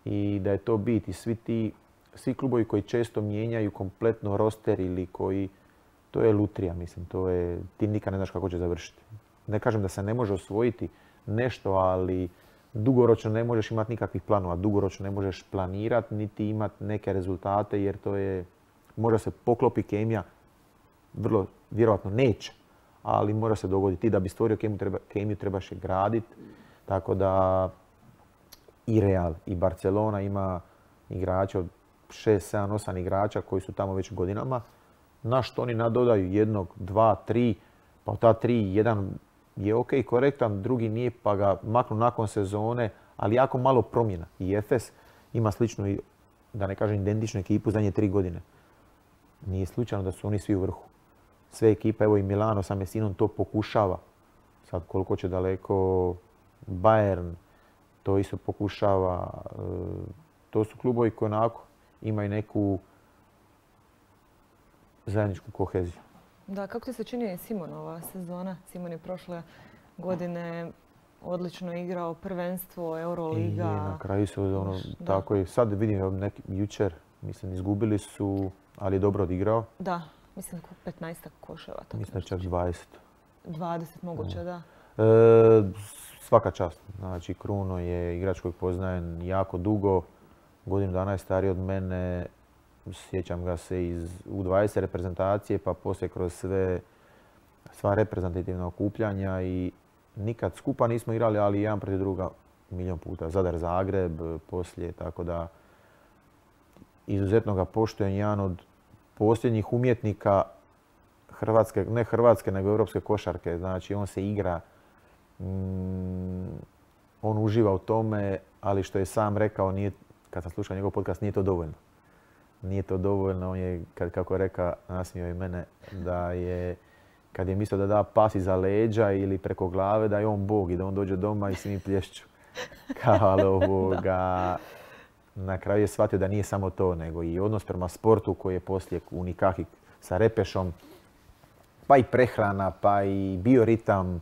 i da je to bit. I svi ti, svi klubovi koji često mijenjaju kompletno roster ili koji, to je lutrija, mislim, to je, ti nikad ne znaš kako će završiti. Ne kažem da se ne može osvojiti nešto, ali dugoročno ne možeš imati nikakvih planova, dugoročno ne možeš planirati niti imati neke rezultate jer to je, možda se poklopi kemija, vrlo vjerojatno neće, ali mora se dogoditi. Ti da bi stvorio kemiju, treba, kemiju trebaš je graditi, tako da i Real i Barcelona ima igrača od šest, sedam, osam igrača koji su tamo već godinama, na što oni nadodaju jednog, dva, tri, pa od ta tri, jedan je ok, korektan, drugi nije pa ga maknu nakon sezone, ali jako malo promjena. I Efes ima sličnu, da ne kažem identičnu ekipu zadnje tri godine. Nije slučajno da su oni svi u vrhu. Sve ekipe, evo i Milano sa Messinom to pokušava. Sad koliko će daleko Bayern, to isto pokušava. To su klubovi koji onako imaju neku zajedničku koheziju. Da, kako ti se čini Simonova sezona? Simon je prošle godine odlično igrao prvenstvo, Euroliga. I na kraju su ono, tako i sad vidim neki, jučer, mislim, izgubili su, ali je dobro odigrao. Da, mislim petnaestak koševa. Mislim čak dvadeset. dvadeset moguće, da. da. E, svaka čast. Znači, Kruno je igrač kojeg poznajem jako dugo, godinu dana je stariji od mene. Sjećam ga se iz U dvadeset reprezentacije, pa poslije kroz sve, sva reprezentativna okupljanja i nikad skupa nismo igrali, ali jedan protiv druga milijon puta. Zadar, Zagreb, poslije, tako da izuzetno ga poštujem, jedan od posljednjih umjetnika hrvatske, ne hrvatske, nego europske košarke. Znači, on se igra, mm, on uživa u tome, ali što je sam rekao, nije, kad sam slušao njegov podcast, nije to dovoljno. Nije to dovoljno, on je, kad, kako je rekao, nasmio i mene, da je, kad je mislio da da pas iza leđa ili preko glave, da je on Bog i da on dođe doma i svi plješću. Kao ovoga, na kraju je shvatio da nije samo to, nego i odnos prema sportu koji je poslije u Nikaki sa Repešom, pa i prehrana, pa i bioritam,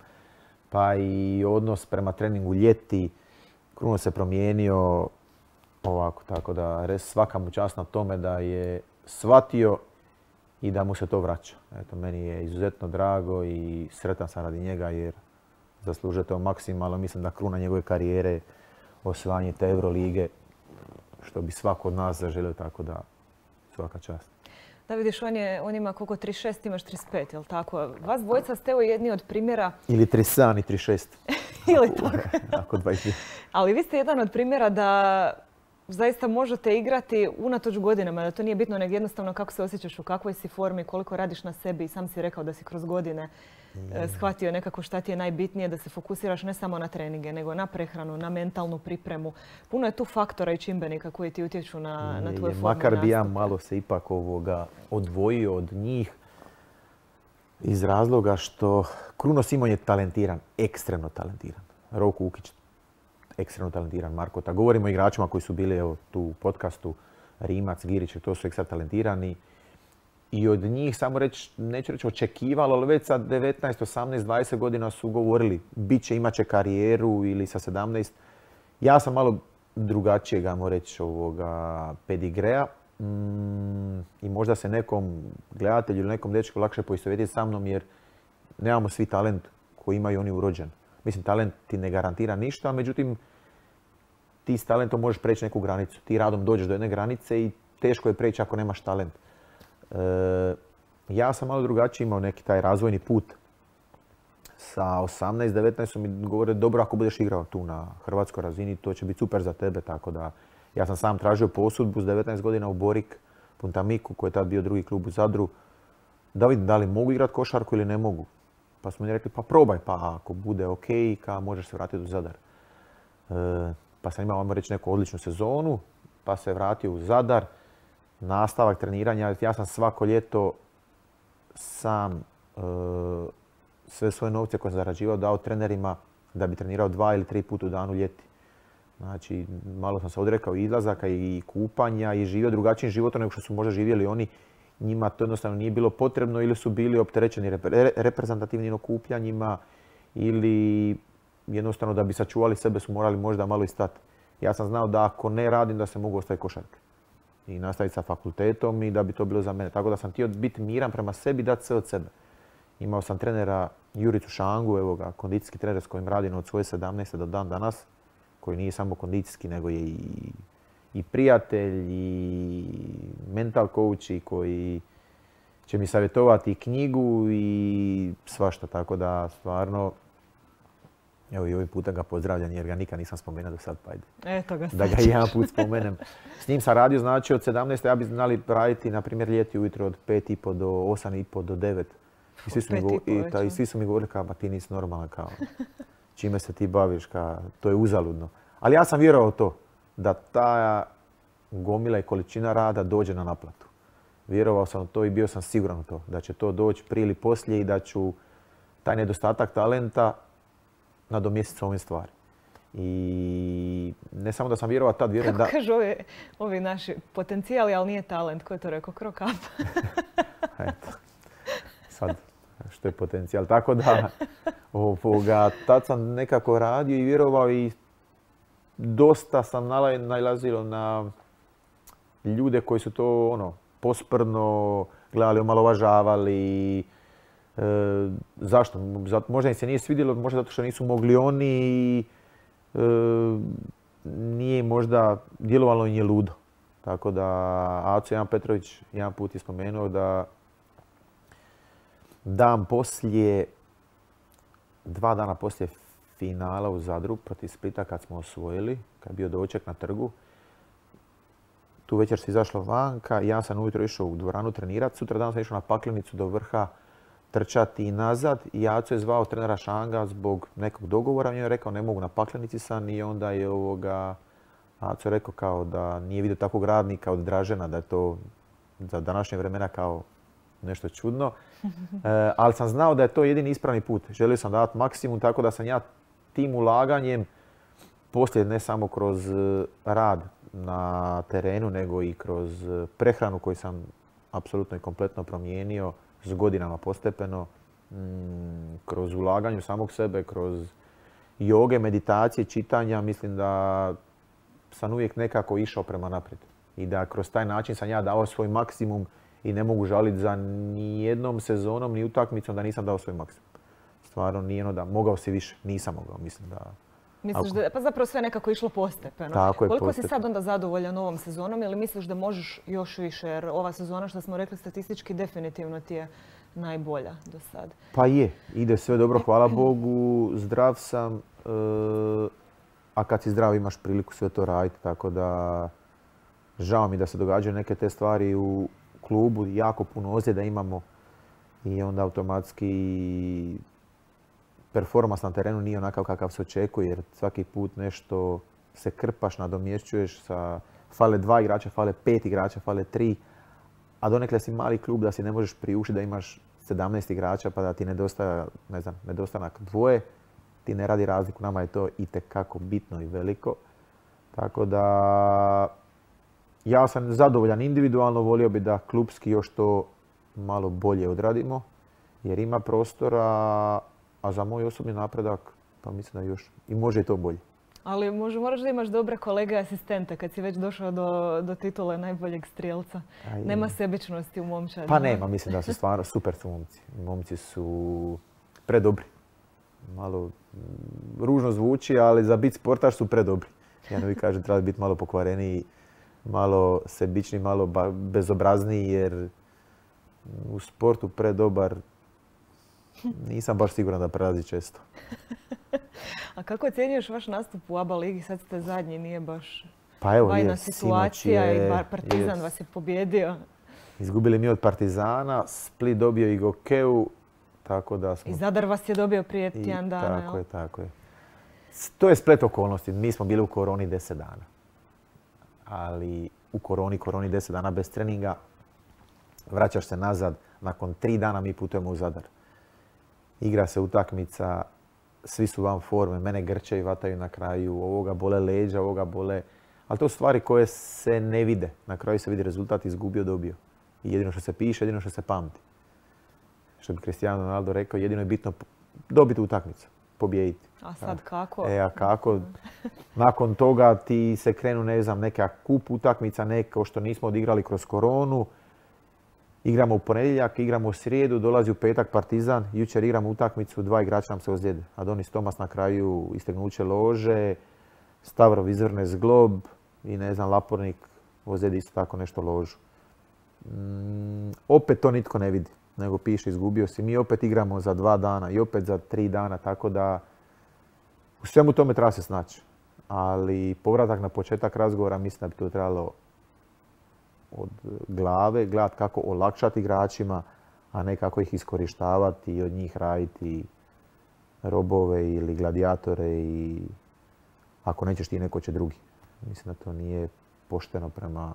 pa i odnos prema treningu ljeti. Kruno se promijenio. Ovako, tako da svaka mu čast na tome da je shvatio i da mu se to vraća. Eto, meni je izuzetno drago i sretan sam radi njega jer zaslužuje to maksimalno. Mislim da kruna njegove karijere osvajanje te Eurolige, što bi svako od nas zaželio, tako da svaka čast. Da vidiš, on, je, on ima koliko, trideset šest, imaš trideset pet, jel tako? Vas dvojica ste evo jedni od primjera... Ili trideset sedam i trideset šest. Ili tako. Ako dvadeset. Ali vi ste jedan od primjera da zaista možete igrati unatoč godinama, da to nije bitno, nego jednostavno kako se osjećaš, u kakvoj si formi, koliko radiš na sebi. I sam si rekao da si kroz godine shvatio nekako šta ti je najbitnije, da se fokusiraš ne samo na treninge, nego na prehranu, na mentalnu pripremu. Puno je tu faktora i čimbenika koji ti utječu na, na tvoje formu. Makar bi ja malo se ipak ovoga odvojio od njih iz razloga što Kruno Simon je talentiran, ekstremno talentiran. Roko Ukić ekstremno talentiran, Markota. Govorimo o igračima koji su bili evo, tu u podcastu, Rimac, Girić, to su ekstra talentirani. I od njih, samo reći, neću reći očekivalo, ali već sa devetnaest, osamnaest, dvadeset godina su govorili bit će, imat će karijeru ili sa sedamnaest. Ja sam malo drugačijeg, ajmo reći, ovoga pedigreja. Mm, I možda se nekom gledatelju ili nekom dečku lakše poistovjetiti sa mnom jer nemamo svi talent koji imaju oni urođen. Mislim, talent ti ne garantira ništa, međutim, ti s talentom možeš preći neku granicu. Ti radom dođeš do jedne granice i teško je preći ako nemaš talent. E, ja sam malo drugačiji imao neki taj razvojni put. Sa osamnaest, devetnaest su mi govorili dobro ako budeš igrao tu na hrvatskoj razini, to će biti super za tebe. Tako da ja sam sam tražio posudbu s devetnaest godina u Borik, Puntamiku, koji je tad bio drugi klub u Zadru, da vidim da li mogu igrati košarku ili ne mogu. Pa smo mi rekli, pa probaj, pa ako bude ok, ka možeš se vratiti u Zadar. E, pa sam imao, ajmo reći, neku odličnu sezonu, pa se vratio u Zadar. Nastavak treniranja, ja sam svako ljeto sam e, sve svoje novce koje sam zarađivao dao trenerima da bi trenirao dva ili tri puta u danu ljeti. Znači, malo sam se odrekao izlazaka i kupanja i živio drugačijim životom nego što su možda živjeli oni. Njima to jednostavno nije bilo potrebno ili su bili opterećeni reprezentativnim okupljanjima ili jednostavno da bi sačuvali sebe su morali možda malo i stati. Ja sam znao da ako ne radim da se mogu ostaviti košarke i nastaviti sa fakultetom i da bi to bilo za mene. Tako da sam htio biti miran prema sebi, dati sve od sebe. Imao sam trenera Juricu Šangu, evo ga, kondicijski trener s kojim radim od svoje sedamnaeste do dan danas, koji nije samo kondicijski, nego je i, i prijatelj, i mental coach, i koji će mi savjetovati i knjigu i svašta. Tako da stvarno, evo i ovim puta ga pozdravljam jer ga nikad nisam spomenuo do sad, pa ajde. Eto ga da ga jedan put spomenem. S njim sam radio, znači od sedamnaeste ja bi znali raditi, na primjer, ljeti ujutro od pet i po do osam i po do devet. I svi su, mi, go, i, ta, i svi su mi govorili kao, pa ti nisi normalan, kao, čime se ti baviš, kao, to je uzaludno. Ali ja sam vjerovao to, da ta gomila i količina rada dođe na naplatu. Vjerovao sam u to i bio sam siguran u to, da će to doći prije ili poslije i da ću taj nedostatak talenta nadomjestiti s ovim stvari. I ne samo da sam vjerovao tad, vjerujem da... Kako kažu ovi, ovi naši potencijali, ali nije talent, ko je to rekao, krokap? Eto, sad, što je potencijal. Tako da, ovoga, tad sam nekako radio i vjerovao i dosta sam nailazio na ljude koji su to ono, posprdno gledali, omalovažavali. E, zašto? Možda im se nije svidjelo, možda zato što nisu mogli oni. E, nije možda djelovalo im je ludo. Tako da Aco Jan Petrović jedan put je spomenuo da dan poslije, dva dana poslije finala u Zadru protiv Splita kad smo osvojili, kad je bio doček na trgu, tu večer se izašlo vanka, ja sam ujutro išao u dvoranu trenirati, sutra dan sam išao na Paklenicu do vrha trčati i nazad i Aco je zvao trenera Šanga zbog nekog dogovora, on je rekao ne mogu, na Paklenici sam i onda je ovoga Aco rekao kao da nije vidio takvog radnika od Dražena, da je to za današnje vremena kao nešto čudno. E, ali sam znao da je to jedini ispravni put. Želio sam dati maksimum, tako da sam ja tim ulaganjem, poslije ne samo kroz rad na terenu, nego i kroz prehranu koju sam apsolutno i kompletno promijenio s godinama postepeno, m, kroz ulaganje samog sebe, kroz joge, meditacije, čitanja, mislim da sam uvijek nekako išao prema naprijed. I da kroz taj način sam ja dao svoj maksimum i ne mogu žaliti za ni jednom sezonom, ni utakmicom da nisam dao svoj maksimum. Stvarno nije ono da mogao si više, nisam mogao, mislim da... Misliš da, pa zapravo sve nekako išlo postepeno. Tako je, koliko postepeno. si sad onda zadovoljan ovom sezonom ili misliš da možeš još više, jer ova sezona što smo rekli statistički definitivno ti je najbolja do sad? Pa je, ide sve dobro, hvala Bogu, zdrav sam, e, a kad si zdrav imaš priliku sve to raditi, tako da žao mi da se događaju neke te stvari u klubu, jako puno ozljeda imamo i onda automatski performans na terenu nije onakav kakav se očekuje jer svaki put nešto se krpaš, nadomješćuješ sa fale dva igrača, fale pet igrača, fale tri, a donekle si mali klub da si ne možeš priuštiti da imaš sedamnaest igrača pa da ti nedostaje, ne znam, nedostanak dvoje, ti ne radi razliku, nama je to itekako bitno i veliko. Tako da ja sam zadovoljan individualno, volio bi da klubski još to malo bolje odradimo jer ima prostora, a za moj osobni napredak pa mislim da još i može i to bolje. Ali može, moraš da imaš dobre kolege asistente kad si već došao do, do titule najboljeg strijelca. Aj, nema sebičnosti u momčadi. Pa nema, mislim da su stvarno super su momci. Momci su predobri. Malo ružno zvuči, ali za biti sportaš su predobri. Ja ne vi kažem treba biti malo pokvareniji, malo sebičniji, malo bezobrazniji jer u sportu predobar nisam baš siguran da prelazi često. A kako ocjenjuješ vaš nastup u A B A ligi? Sad ste zadnji, nije baš pa evo, bajna je, situacija je, i Partizan je, vas je pobjedio. Izgubili mi od Partizana, Split dobio i Gokeu, tako da smo... I Zadar vas je dobio prije tjedan dana. Tako je, tako je. To je splet okolnosti. Mi smo bili u koroni deset dana. Ali u koroni, koroni deset dana bez treninga. Vraćaš se nazad. Nakon tri dana mi putujemo u Zadar. Igra se utakmica svi su van forme, mene grče i vataju na kraju, ovoga bole leđa, ovoga bole... Ali to su stvari koje se ne vide. Na kraju se vidi rezultat, izgubio, dobio. I jedino što se piše, jedino što se pamti. Što bi Cristiano Ronaldo rekao, jedino je bitno dobiti utakmicu, pobijediti. A sad kako? E, a kako? Nakon toga ti se krenu, ne znam, neka kup utakmica, neko što nismo odigrali kroz koronu. Igramo u ponedjeljak, igramo u srijedu, dolazi u petak Partizan, jučer igramo utakmicu, dva igrača nam se ozljede. Adonis Tomas na kraju istegnuće lože, Stavrov izvrne zglob i ne znam, Lapornik ozljedi isto tako nešto ložu. Mm, opet to nitko ne vidi, nego piše izgubio si. Mi opet igramo za dva dana i opet za tri dana, tako da u svemu tome treba se snaći. Ali povratak na početak razgovora mislim da bi to trebalo od glave, gledati kako olakšati igračima, a ne kako ih iskorištavati i od njih raditi robove ili gladiatore i ako nećeš ti, neko će drugi. Mislim da to nije pošteno prema...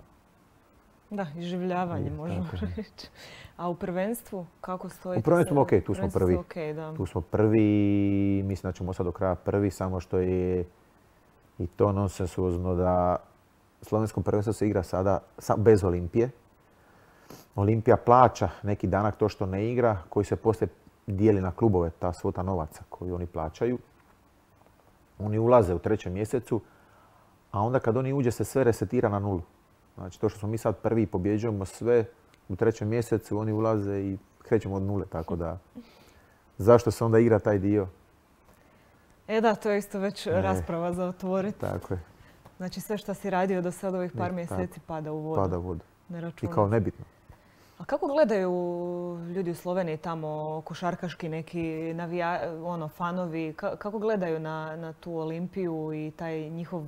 Da, iživljavanje možemo reći. A u prvenstvu kako stojite? U prvenstvu smo ok, tu smo prvi. Okay, da. Tu smo prvi, mislim da ćemo sad do kraja prvi, samo što je i to nonsensuozno da slovenskom prvenstvu se igra sada bez Olimpije. Olimpija plaća neki danak to što ne igra, koji se poslije dijeli na klubove, ta svota novaca koju oni plaćaju. Oni ulaze u trećem mjesecu, a onda kad oni uđe se sve resetira na nulu. Znači to što smo mi sad prvi i pobjeđujemo sve u trećem mjesecu, oni ulaze i krećemo od nule, tako da zašto se onda igra taj dio? E da, to je isto već e, rasprava za otvoriti. Tako je. Znači sve što si radio do sada ovih par ne, mjeseci tako, pada u vodu. Pada u vodu. Ne I kao nebitno. A kako gledaju ljudi u Sloveniji tamo, košarkaški neki navija, ono, fanovi, ka, kako gledaju na, na tu Olimpiju i taj njihov,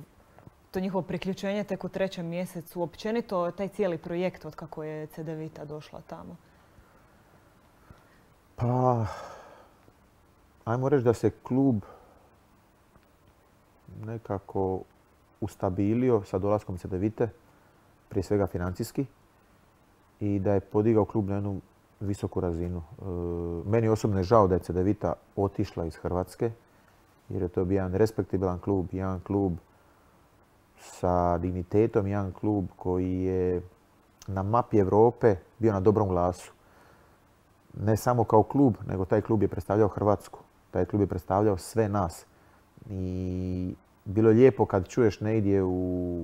to njihovo priključenje tek u trećem mjesecu, općenito taj cijeli projekt od kako je Cedevita došla tamo? Pa, ajmo reći da se klub nekako ustabilio sa dolaskom Cedevite, prije svega financijski, i da je podigao klub na jednu visoku razinu. E, meni osobno je žao da je Cedevita otišla iz Hrvatske, jer je to bio jedan respektibilan klub, jedan klub sa dignitetom, jedan klub koji je na mapi Europe bio na dobrom glasu. Ne samo kao klub, nego taj klub je predstavljao Hrvatsku. Taj klub je predstavljao sve nas. I bilo je lijepo kad čuješ negdje u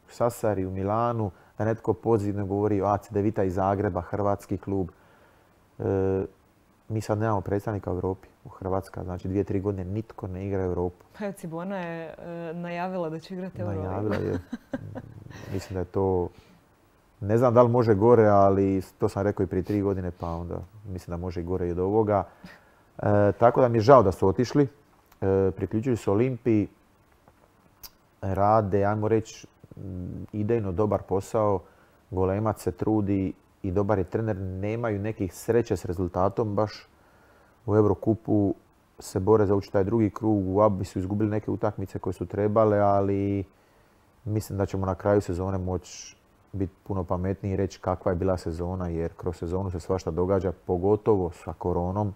Sasari, u Milanu, da netko pozivno govori o Cedevita iz Zagreba, hrvatski klub. E, mi sad nemamo predstavnika u Europi, u Hrvatska. Znači dvije, tri godine nitko ne igra Europu. Pa Cibona je e, najavila da će igrati Europu. Najavila je. Mislim da je to... Ne znam da li može gore, ali to sam rekao i prije tri godine, pa onda mislim da može i gore i od ovoga. E, tako da mi je žao da su otišli. E, priključuju se Olimpiji. Rade, ajmo reći, idejno dobar posao. Golemac se trudi i dobar je trener. Nemaju nekih sreće s rezultatom baš. U Eurokupu se bore za ući taj drugi krug. U Abi su izgubili neke utakmice koje su trebale, ali mislim da ćemo na kraju sezone moći biti puno pametniji i reći kakva je bila sezona, jer kroz sezonu se svašta događa, pogotovo sa koronom.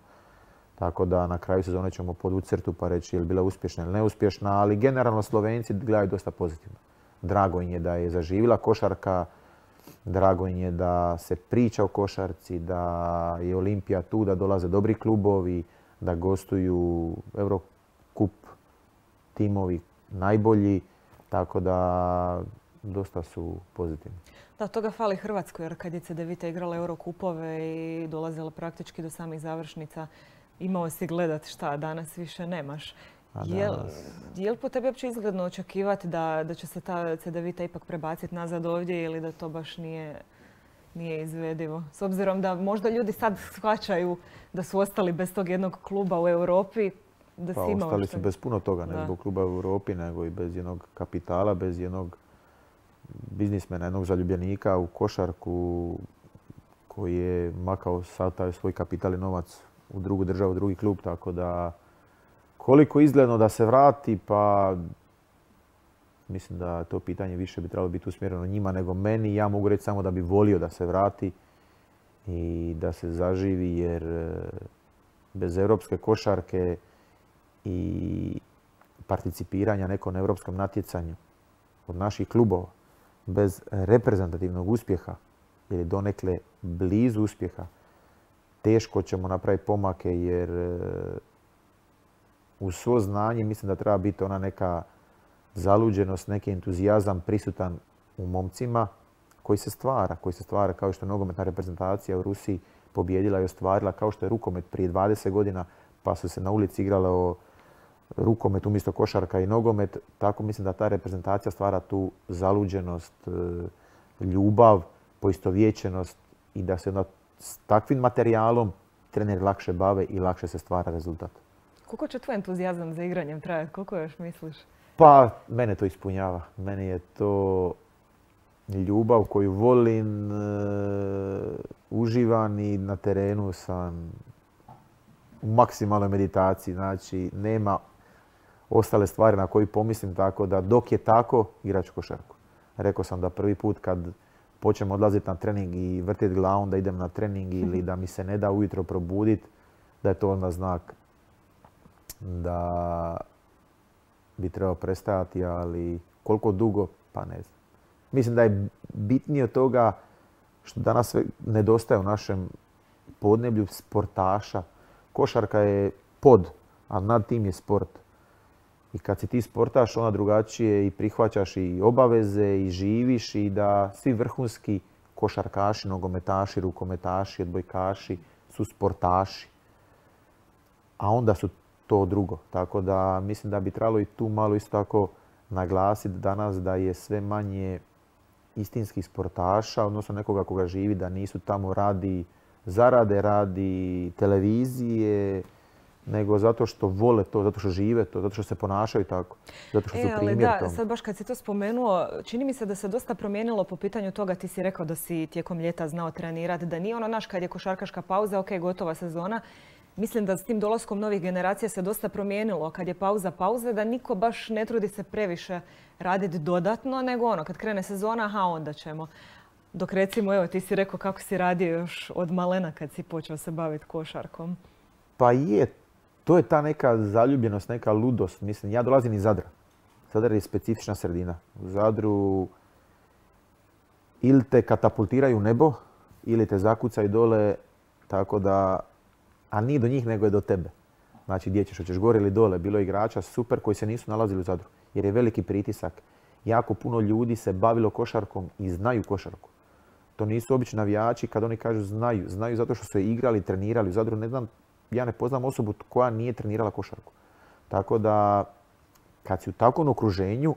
Tako da na kraju sezone ćemo podvući crtu pa reći je li bila uspješna ili neuspješna, ali generalno Slovenci gledaju dosta pozitivno. Drago im je da je zaživjela košarka, drago im je da se priča o košarci, da je Olimpija tu, da dolaze dobri klubovi, da gostuju Eurocup timovi najbolji, tako da dosta su pozitivni. Da, toga fali Hrvatskoj, jer kad je Cedevita igrala Eurocupove i dolazila praktički do samih završnica, imao si gledat šta, danas više nemaš. Je li po tebi uopće izgledno očekivati da, da će se ta Cedevita ipak prebaciti nazad ovdje ili da to baš nije, nije izvedivo? S obzirom da možda ljudi sad shvaćaju da su ostali bez tog jednog kluba u Europi. Da pa si ostali su bez puno toga, ne zbog kluba u Europi, nego i bez jednog kapitala, bez jednog biznismena, jednog zaljubljenika u košarku koji je makao sav taj svoj kapital i novac u drugu državu, u drugi klub, tako da koliko izgledno da se vrati, pa mislim da to pitanje više bi trebalo biti usmjereno njima nego meni. Ja mogu reći samo da bi volio da se vrati i da se zaživi, jer bez europske košarke i participiranja nekom europskom natjecanju od naših klubova bez reprezentativnog uspjeha ili donekle blizu uspjeha, teško ćemo napraviti pomake jer uz svo znanje mislim da treba biti ona neka zaluđenost, neki entuzijazam prisutan u momcima koji se stvara, koji se stvara kao što je nogometna reprezentacija u Rusiji pobijedila i ostvarila, kao što je rukomet prije dvadeset godina pa su se na ulici igralo rukomet umjesto košarka i nogomet. Tako mislim da ta reprezentacija stvara tu zaluđenost, ljubav, poistovjećenost i da se onda s takvim materijalom treneri lakše bave i lakše se stvara rezultat. Koliko će tvoj entuzijazam za igranjem trajati? Koliko još misliš? Pa, mene to ispunjava. Meni je to ljubav koju volim, uh, uživam i na terenu sam u maksimalnoj meditaciji. Znači, nema ostale stvari na koje pomislim, tako da dok je tako, igrat ću košarku. Rekao sam da prvi put kad počnem odlaziti na trening i vrtiti glavom da idem na trening ili da mi se ne da ujutro probuditi, da je to onda znak da bi trebao prestajati, ali koliko dugo, pa ne znam. Mislim da je bitnije od toga što danas sve nedostaje u našem podneblju sportaša. Košarka je pod, a nad tim je sport. I kad si ti sportaš, onda drugačije i prihvaćaš i obaveze i živiš i da svi vrhunski košarkaši, nogometaši, rukometaši, odbojkaši su sportaši. A onda su to drugo. Tako da mislim da bi trebalo i tu malo isto tako naglasiti danas da je sve manje istinskih sportaša, odnosno nekoga koga živi, da nisu tamo radi zarade, radi televizije, nego zato što vole to, zato što žive to, zato što se ponašaju tako, zato što su e, primjer ali da, tome. sad baš kad si to spomenuo, čini mi se da se dosta promijenilo po pitanju toga, ti si rekao da si tijekom ljeta znao trenirati, da nije ono naš kad je košarkaška pauza, ok, gotova sezona. Mislim da s tim dolaskom novih generacija se dosta promijenilo kad je pauza pauze, da niko baš ne trudi se previše raditi dodatno, nego ono, kad krene sezona, aha, onda ćemo. Dok recimo, evo, ti si rekao kako si radio još od malena kad si počeo se baviti košarkom. Pa je, to je ta neka zaljubljenost, neka ludost. Mislim, ja dolazim iz Zadra. Zadar je specifična sredina. U Zadru ili te katapultiraju u nebo, ili te zakucaju dole, tako da, a nije do njih nego je do tebe. Znači, gdje ćeš, hoćeš gore ili dole. Bilo je igrača super koji se nisu nalazili u Zadru, jer je veliki pritisak. Jako puno ljudi se bavilo košarkom i znaju košarku. To nisu obični navijači kad oni kažu znaju. Znaju zato što su je igrali i trenirali u Zadru. Ne znam, ja ne poznam osobu koja nije trenirala košarku. Tako da, kad si u takvom okruženju,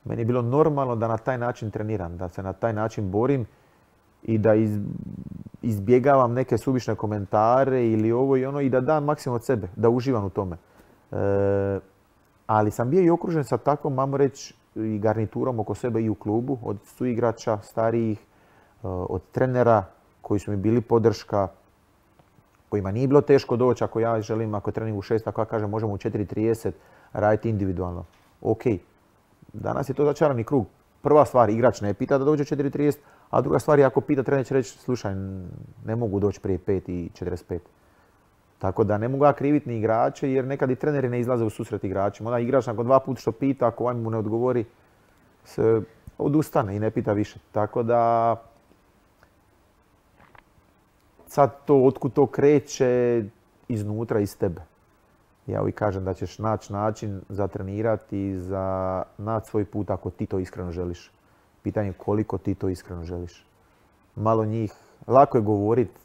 meni je bilo normalno da na taj način treniram, da se na taj način borim i da iz, izbjegavam neke suvišne komentare ili ovo i ono i da dam maksimum od sebe, da uživam u tome. E, ali sam bio i okružen sa takvom, mamo reći, i garniturom oko sebe i u klubu, od suigrača, starijih, od trenera koji su mi bili podrška, kojima nije bilo teško doći ako ja želim, ako je trening u šest, ako ja kažem možemo u četiri trideset raditi individualno. Ok, danas je to začarani krug. Prva stvar, igrač ne pita da dođe u četiri trideset, a druga stvar je ako pita trener će reći slušaj, ne mogu doći prije pet i četrdeset pet. Tako da ne mogu ja kriviti ni igrače jer nekad i treneri ne izlaze u susret igračima. Onda igrač nakon dva puta što pita, ako ovaj mu ne odgovori, se odustane i ne pita više. Tako da sad to, otkud to kreće, iznutra, iz tebe. Ja uvijek kažem da ćeš naći način za trenirati i za naći svoj put ako ti to iskreno želiš. Pitanje je koliko ti to iskreno želiš. Malo njih, lako je govoriti,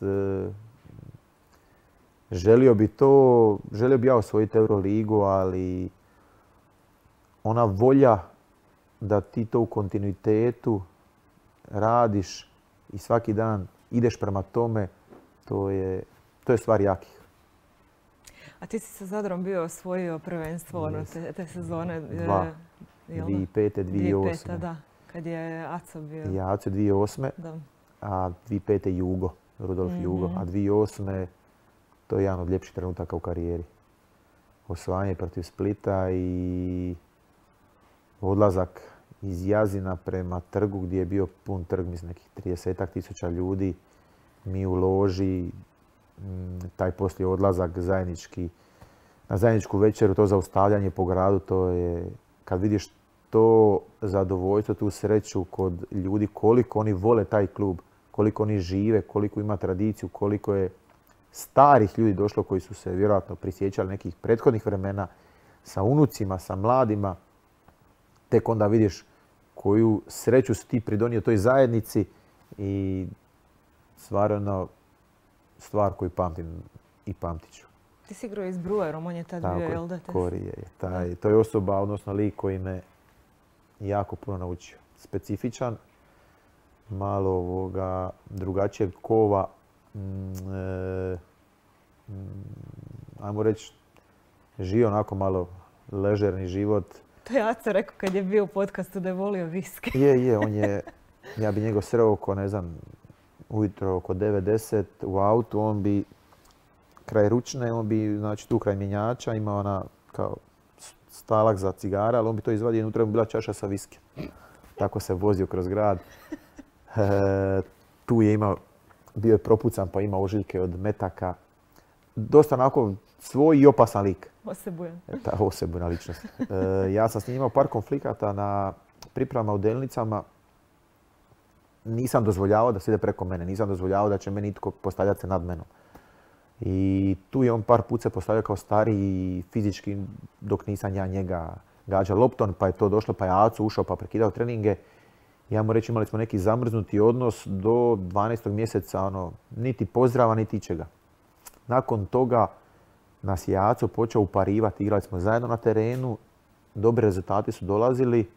želio bi to, želio bi ja osvojiti Euroligu, ali ona volja da ti to u kontinuitetu radiš i svaki dan ideš prema tome, to je, to je stvar jakih. A ti si sa Zadrom bio osvojio prvenstvo ono, te, te sezone? Dva. dvije tisuće pete. dvije tisuće osme. dvije tisuće pete. Da, kad je Aco bio. Ja, Aco dvije tisuće osme. Da. A dvije tisuće pete. Jugo, Rudolf mm-hmm. Jugo. A dvije tisuće osme. to je jedan od ljepših trenutaka u karijeri. Osvajanje protiv Splita i odlazak iz Jazina prema trgu gdje je bio pun trg, mislim nekih tridesetak tisuća ljudi. Mi u loži, taj poslije odlazak zajednički na zajedničku večeru, to zaustavljanje po gradu, to je kad vidiš to zadovoljstvo, tu sreću kod ljudi, koliko oni vole taj klub, koliko oni žive, koliko ima tradiciju, koliko je starih ljudi došlo koji su se vjerojatno prisjećali nekih prethodnih vremena sa unucima, sa mladima. Tek onda vidiš koju sreću si ti pridonio toj zajednici i stvarno stvar koju pamtim i pamtit ću. Ti si igrao i s Brewerom, on je tad bio, jel da? Korije je. Taj, to je osoba, odnosno lik koji me jako puno naučio. Specifičan, malo ovoga drugačijeg kova, mm, e, mm, ajmo reći, živio onako malo ležerni život. To je Aca rekao kad je bio u podcastu da je volio viski. Je, je, on je, ja bi njegov sreo oko, ne znam, ujutro oko devet deset u autu, on bi kraj ručne, on bi, znači tu kraj mjenjača imao ona kao stalak za cigara, ali on bi to izvadio i unutra bi bila čaša sa viski. Tako se vozio kroz grad. E, tu je imao, bio je propucan pa ima ožiljke od metaka. Dosta onako svoj i opasan lik. Osebujan. Ta osebujna ličnost. E, ja sam s njim imao par konflikata na pripremama u Delnicama. Nisam dozvoljavao da se ide preko mene, nisam dozvoljavao da će meni itko postavljati se nad menom. I tu je on par put se postavio kao stariji fizički dok nisam ja njega gađao loptom, pa je to došlo, pa je Acu ušao pa prekidao treninge. Ja mu reći imali smo neki zamrznuti odnos do dvanaestog mjeseca, ono, niti pozdrava, niti ičega. Nakon toga nas je Aco počeo uparivati, igrali smo zajedno na terenu, dobri rezultati su dolazili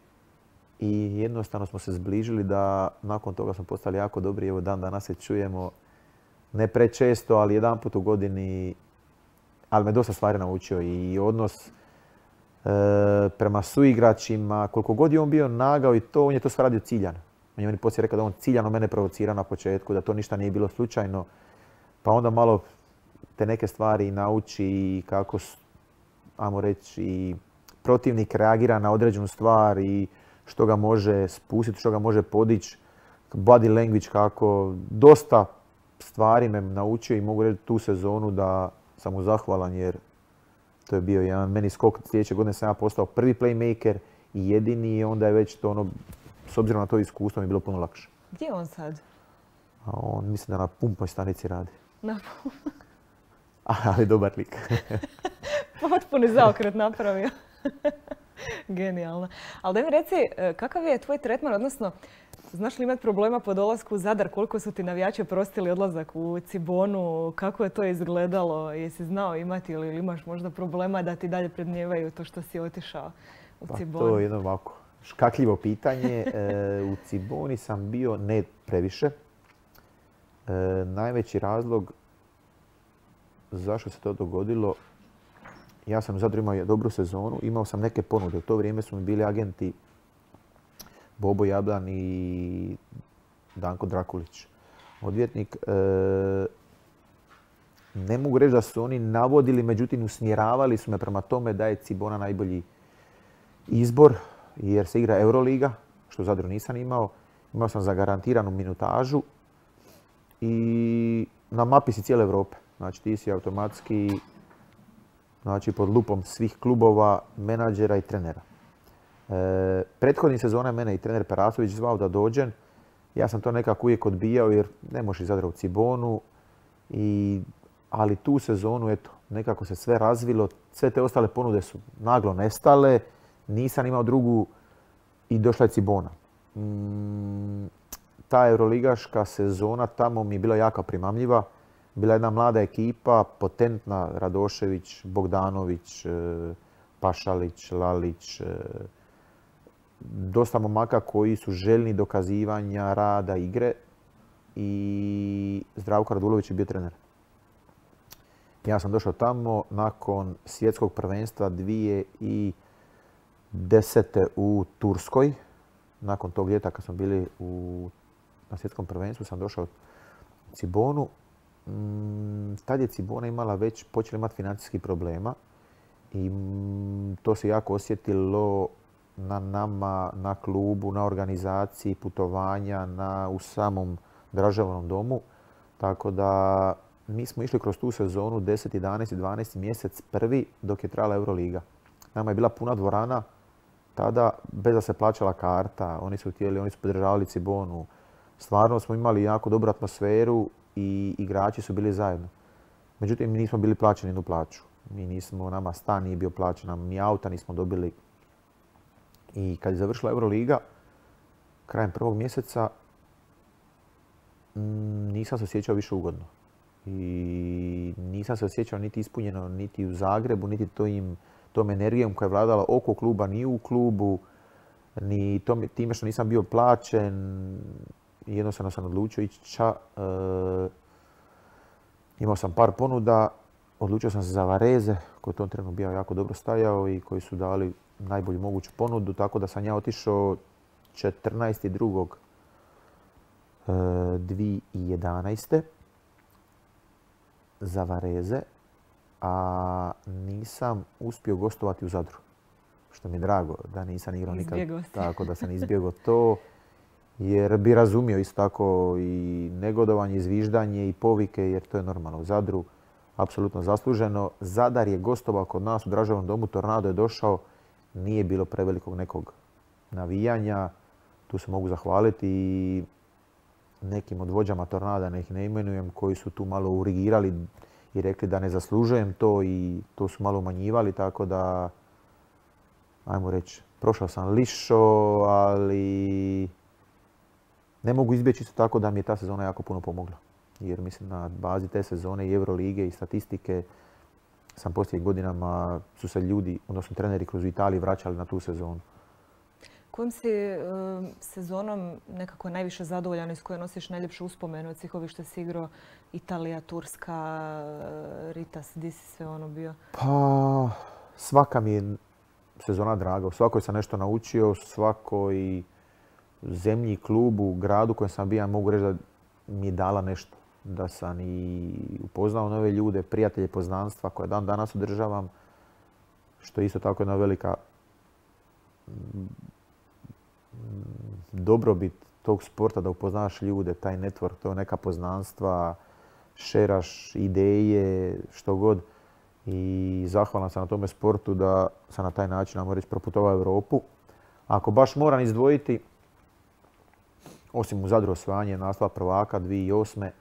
i jednostavno smo se zbližili da nakon toga smo postali jako dobri. Evo dan danas se čujemo, ne prečesto, ali jedan put u godini, ali me dosta stvari naučio i odnos e, prema suigračima, koliko god je on bio nagao i to, on je to sve radio ciljano. On je meni poslije rekao da on ciljano mene provocira na početku, da to ništa nije bilo slučajno, pa onda malo te neke stvari nauči i kako, ajmo reći, i protivnik reagira na određenu stvar i što ga može spustiti, što ga može podići, body language kako, dosta stvari me naučio i mogu reći tu sezonu da sam mu zahvalan jer to je bio jedan meni skok. Sljedeće godine sam ja postao prvi playmaker i jedini i onda je već to ono, s obzirom na to iskustvo mi je bilo puno lakše. Gdje je on sad? A on mislim da na pumpoj stanici radi. Na Ali dobar lik. Potpuni zaokret napravio. Genijalno. Ali da mi reci, kakav je tvoj tretman, odnosno znaš li imati problema po dolasku u Zadar? Koliko su ti navijači prostili odlazak u Cibonu? Kako je to izgledalo? Jesi znao imati ili imaš možda problema da ti dalje predmnijevaju to što si otišao u Cibonu? Pa to je jedno ovako škakljivo pitanje. E, u Ciboni sam bio ne previše. E, najveći razlog zašto se to dogodilo, ja sam u Zadru imao dobru sezonu, imao sam neke ponude. U to vrijeme su mi bili agenti Bobo Jablan i Danko Drakulić, odvjetnik. E, ne mogu reći da su oni navodili, međutim usmjeravali su me prema tome da je Cibona najbolji izbor jer se igra Euroliga, što u Zadru nisam imao. Imao sam zagarantiranu minutažu i na mapi si cijele Europe. Znači ti si automatski, znači, pod lupom svih klubova, menadžera i trenera. E, prethodnih sezona mene i trener Perasović zvao da dođem. Ja sam to nekako uvijek odbijao jer ne možeš iz Zadra u Cibonu. I, ali tu sezonu, eto, nekako se sve razvilo. Sve te ostale ponude su naglo nestale. Nisam imao drugu i došla je Cibona. Mm, ta euroligaška sezona tamo mi je bila jako primamljiva. Bila je jedna mlada ekipa, potentna, Radošević, Bogdanović, Pašalić, Lalić. Dosta momaka koji su željni dokazivanja, rada, igre. I Zdravko Radulović je bio trener. Ja sam došao tamo nakon svjetskog prvenstva dvije tisuće desete. u Turskoj. Nakon tog ljeta kad smo bili u, na svjetskom prvenstvu sam došao u Cibonu. Tad je Cibona imala već, počela imati financijskih problema i to se jako osjetilo na nama, na klubu, na organizaciji, putovanja, na, u samom državnom domu. Tako da mi smo išli kroz tu sezonu deset, jedanaest, dvanaest mjesec prvi dok je trajala Euroliga. Nama je bila puna dvorana tada bez da se plaćala karta. Oni su htjeli, oni su podržavali Cibonu. Stvarno smo imali jako dobru atmosferu i igrači su bili zajedno. Međutim, mi nismo bili plaćeni jednu plaću. Mi nismo, nama stan nije bio plaćen, nam ni auta nismo dobili. I kad je završila Euroliga, krajem prvog mjeseca, nisam se osjećao više ugodno. I nisam se osjećao niti ispunjeno, niti u Zagrebu, niti tojim, tom energijom koja je vladala oko kluba, ni u klubu, ni tom, time što nisam bio plaćen. Jednostavno sam odlučio ići ča. E, imao sam par ponuda, odlučio sam se za Vareze, koji je u tom trenutku bio jako dobro stajao i koji su dali najbolju moguću ponudu, tako da sam ja otišao četrnaesti drugog dvije tisuće jedanaeste za Vareze, a nisam uspio gostovati u Zadru. Što mi je drago da nisam igrao nikad. Tako da sam izbjegao to. Jer bi razumio isto tako i negodovanje, i zviždanje i povike, jer to je normalno u Zadru. Apsolutno zasluženo. Zadar je gostovao kod nas u Draževnom domu, Tornado je došao. Nije bilo prevelikog nekog navijanja. Tu se mogu zahvaliti i nekim od vođama Tornada, ne ih ne imenujem, koji su tu malo urigirali i rekli da ne zaslužujem to i to su malo umanjivali, tako da, ajmo reći, prošao sam lišo, ali ne mogu izbjeći isto tako da mi je ta sezona jako puno pomogla. Jer mislim na bazi te sezone i Eurolige i statistike sam poslije godinama su se ljudi, odnosno treneri kroz Italiju vraćali na tu sezonu. Kojom si e, sezonom nekako najviše zadovoljan i s kojoj nosiš najljepše uspomene od svih ovih što si igrao? Italija, Turska, Ritas, di si sve ono bio? Pa, svaka mi je sezona draga. U svakoj sam nešto naučio, svakoj zemlji, klubu, gradu kojem sam bio, mogu reći da mi je dala nešto. Da sam i upoznao nove ljude, prijatelje, poznanstva koje dan danas održavam, što je isto tako jedna velika dobrobit tog sporta, da upoznaš ljude, taj network, to neka poznanstva, šeraš ideje, što god. I zahvalan sam na tome sportu da sam na taj način, ajmo reći, proputovao Europu. Ako baš moram izdvojiti, osim u Zadru osvajanje naslova prvaka dvije tisuće osme,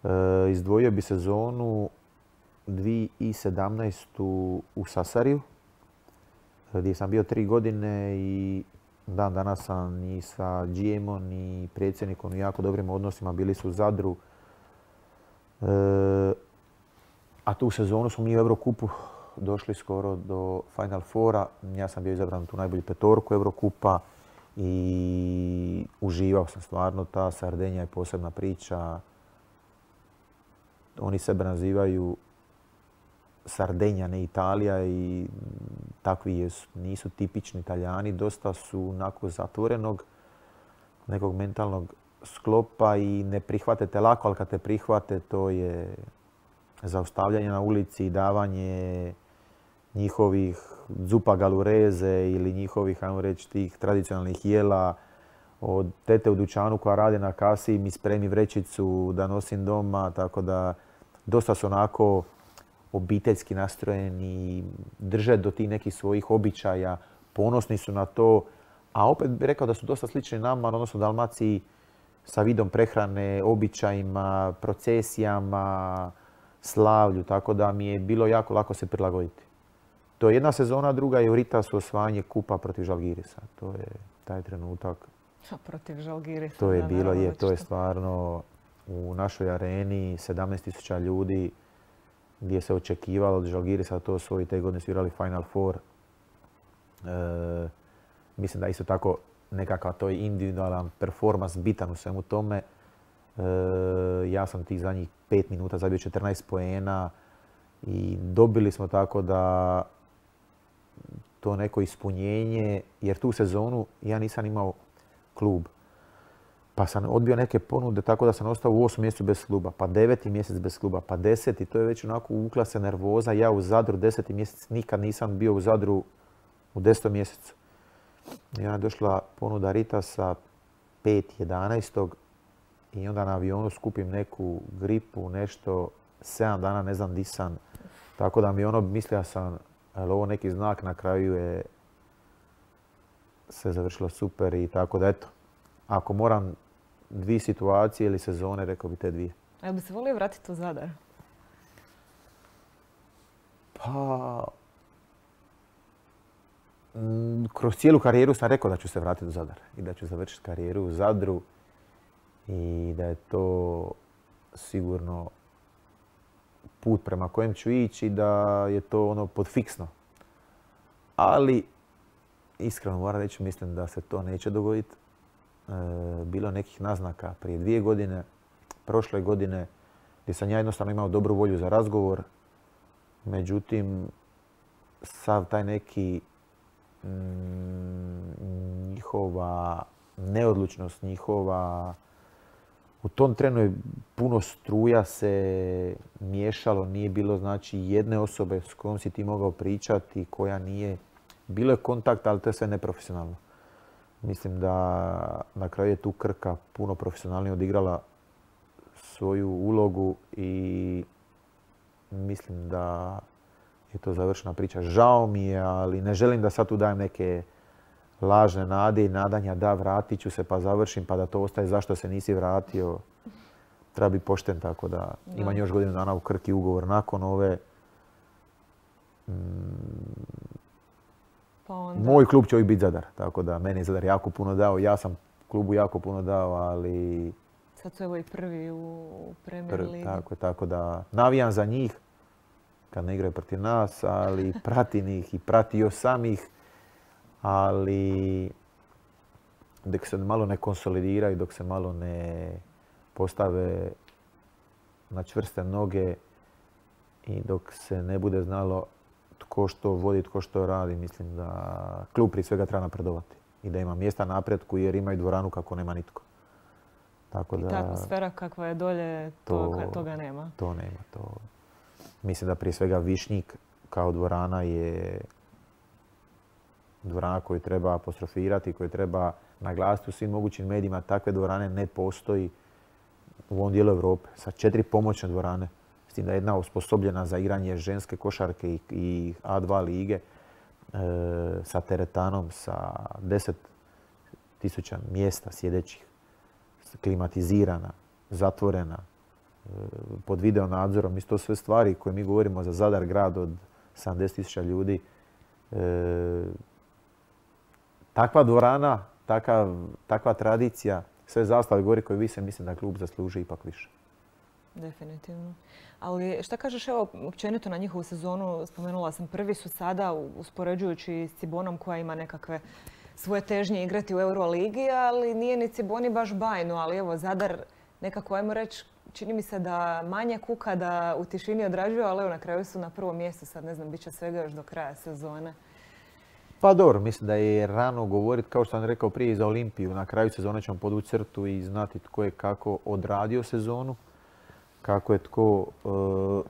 e, izdvojio bi sezonu dvije tisuće sedamnaestu u Sasariju, gdje sam bio tri godine i dan danas sam i sa G M-om i predsjednikom u jako dobrim odnosima, bili su u Zadru. E, a tu sezonu smo mi u Eurokupu došli skoro do Final Fora. Ja sam bio izabran u tu najbolju petorku Eurokupa i uživao sam stvarno. Ta Sardenija je posebna priča. Oni sebe nazivaju Sardenja, ne Italija, i takvi jesu. Nisu tipični Italijani, dosta su onako zatvorenog nekog mentalnog sklopa i ne prihvate te lako, ali kad te prihvate to je zaustavljanje na ulici i davanje njihovih zupa galureze ili njihovih, ajmo reći, tih tradicionalnih jela. Od tete u dućanu koja radi na kasi mi spremi vrećicu da nosim doma, tako da dosta su onako obiteljski nastrojeni, drže do tih nekih svojih običaja, ponosni su na to, a opet bih rekao da su dosta slični nama, odnosno Dalmaciji, sa vidom prehrane, običajima, procesijama, slavlju, tako da mi je bilo jako lako se prilagoditi. To je jedna sezona, druga je u Ritasu osvajanje kupa protiv Žalgirisa. To je taj trenutak. Protiv Žalgirisa. To je bilo, je, to je stvarno u našoj areni sedamnaest tisuća ljudi, gdje se očekivalo od Žalgirisa da to osvoji. Te godine su igrali Final Four. E, mislim da isto tako nekakav to je individualan performans bitan u svemu tome. E, ja sam tih zadnjih pet minuta zabio četrnaest poena i dobili smo tako da to neko ispunjenje, jer tu sezonu ja nisam imao klub. Pa sam odbio neke ponude, tako da sam ostao u osmom mjesecu bez kluba, pa deveti mjesec bez kluba, pa deseti. To je već onako uvukla se nervoza. Ja u Zadru deseti mjesec nikad nisam bio u Zadru u desetom mjesecu. I onda je došla ponuda Ritasa pet jedanaestog i onda na avionu skupim neku gripu, nešto sedam dana ne znam di sam. Tako da mi ono, mislio sam, ali ovo neki znak, na kraju je sve završilo super i tako da eto. Ako moram dvije situacije ili sezone, rekao bi te dvije. A jel bi se volio vratiti u Zadar? Pa... Kroz cijelu karijeru sam rekao da ću se vratiti u Zadar i da ću završiti karijeru u Zadru i da je to sigurno put prema kojem ću ići i da je to ono podfiksno. Ali, iskreno moram reći, mislim da se to neće dogoditi. E, bilo je nekih naznaka prije dvije godine, prošle godine, gdje sam ja jednostavno imao dobru volju za razgovor. Međutim, sav taj neki mm, njihova neodlučnost, njihova... U tom trenu je puno struja se miješalo, nije bilo znači jedne osobe s kojom si ti mogao pričati, koja nije. Bilo je kontakt, ali to je sve neprofesionalno. Mislim da na kraju je tu Krka puno profesionalnije odigrala svoju ulogu i mislim da je to završena priča. Žao mi je, ali ne želim da sad tu dajem neke lažne nade i nadanja da vratit ću se pa završim pa da to ostaje zašto se nisi vratio. Treba biti pošten, tako da imam još godinu dana u Krki ugovor nakon ove. Mm, pa onda... Moj klub će uvijek biti Zadar, tako da meni je Zadar jako puno dao. Ja sam klubu jako puno dao, ali... Sad su evo i prvi u Premier Ligi. Tako, tako da navijam za njih kad ne igraju protiv nas, ali pratim ih i pratio sam ih. Ali dok se malo ne konsolidiraju, dok se malo ne postave na čvrste noge i dok se ne bude znalo tko što vodi, tko što radi, mislim da klub prije svega treba napredovati i da ima mjesta napretku jer imaju dvoranu kako nema nitko. Tako da, i ta atmosfera kakva je dolje, to, to, toga nema. To nema. To. Mislim da prije svega Višnjik kao dvorana je dvorana koju treba apostrofirati, koju treba naglasiti u svim mogućim medijima. Takve dvorane ne postoji u ovom dijelu Europe. Sa četiri pomoćne dvorane. S tim da je jedna osposobljena za igranje ženske košarke i, i A dva lige. E, sa teretanom, sa deset tisuća mjesta sjedećih. Klimatizirana, zatvorena, e, pod video nadzorom. Isto sve stvari koje mi govorimo za Zadar grad od sedamdeset tisuća ljudi. E, Takva dvorana, takav, takva tradicija, sve zastave gori koje vise, mislim da klub zasluži ipak više. Definitivno. Ali šta kažeš evo općenito na njihovu sezonu? Spomenula sam, prvi su sada uspoređujući s Cibonom koja ima nekakve svoje težnje igrati u Euroligi, ali nije ni Ciboni baš bajno. Ali evo Zadar nekako, ajmo reći, čini mi se da manje kuka, da u tišini odrađuju, ali evo na kraju su na prvom mjestu. Sad ne znam, bit će svega još do kraja sezone. Pa dobro, mislim da je rano govoriti, kao što sam rekao prije, za Olimpiju. Na kraju sezone ćemo podvući crtu i znati tko je kako odradio sezonu, kako je tko uh,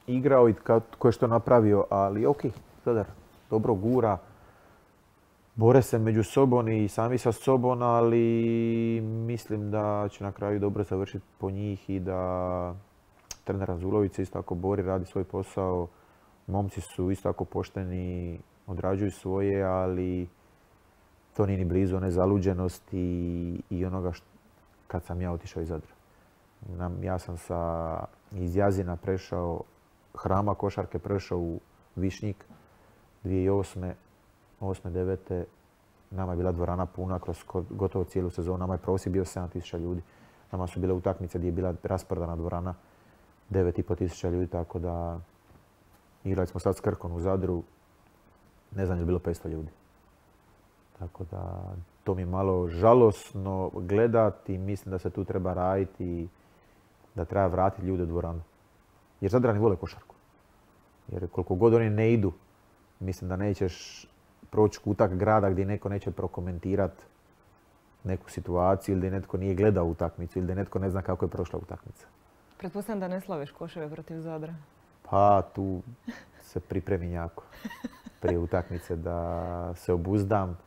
igrao i tko je što napravio. Ali ok, Zadar dobro gura, bore se među sobom i sami sa sobom, ali mislim da će na kraju dobro završiti po njih i da trener Razulović se isto tako bori, radi svoj posao. Momci su isto tako pošteni, odrađuju svoje, ali to nije ni blizu one zaluđenosti i, i onoga što, kad sam ja otišao iz Zadra. Ja sam sa, iz Jazina prešao, Hrama košarke prešao u Višnjik dvije tisuće osme. osme, devete. Nama je bila dvorana puna kroz gotovo cijelu sezonu. Nama je prosjek bio sedam tisuća ljudi. Nama su bile utakmice gdje je bila rasprodana dvorana devet i pol tisuća ljudi, tako da igrali smo sad s Krkom u Zadru. Ne znam je li bilo petsto ljudi. Tako da to mi je malo žalosno gledati i mislim da se tu treba raditi i da treba vratiti ljude u dvoranu. Jer Zadrani vole košarku. Jer koliko god oni ne idu, mislim da nećeš proći kutak grada gdje neko neće prokomentirati neku situaciju ili da netko nije gledao utakmicu ili da netko ne zna kako je prošla utakmica. Pretpostavljam da ne slaviš koševe protiv Zadra. Pa tu se pripremim jako prije utakmice da se obuzdam,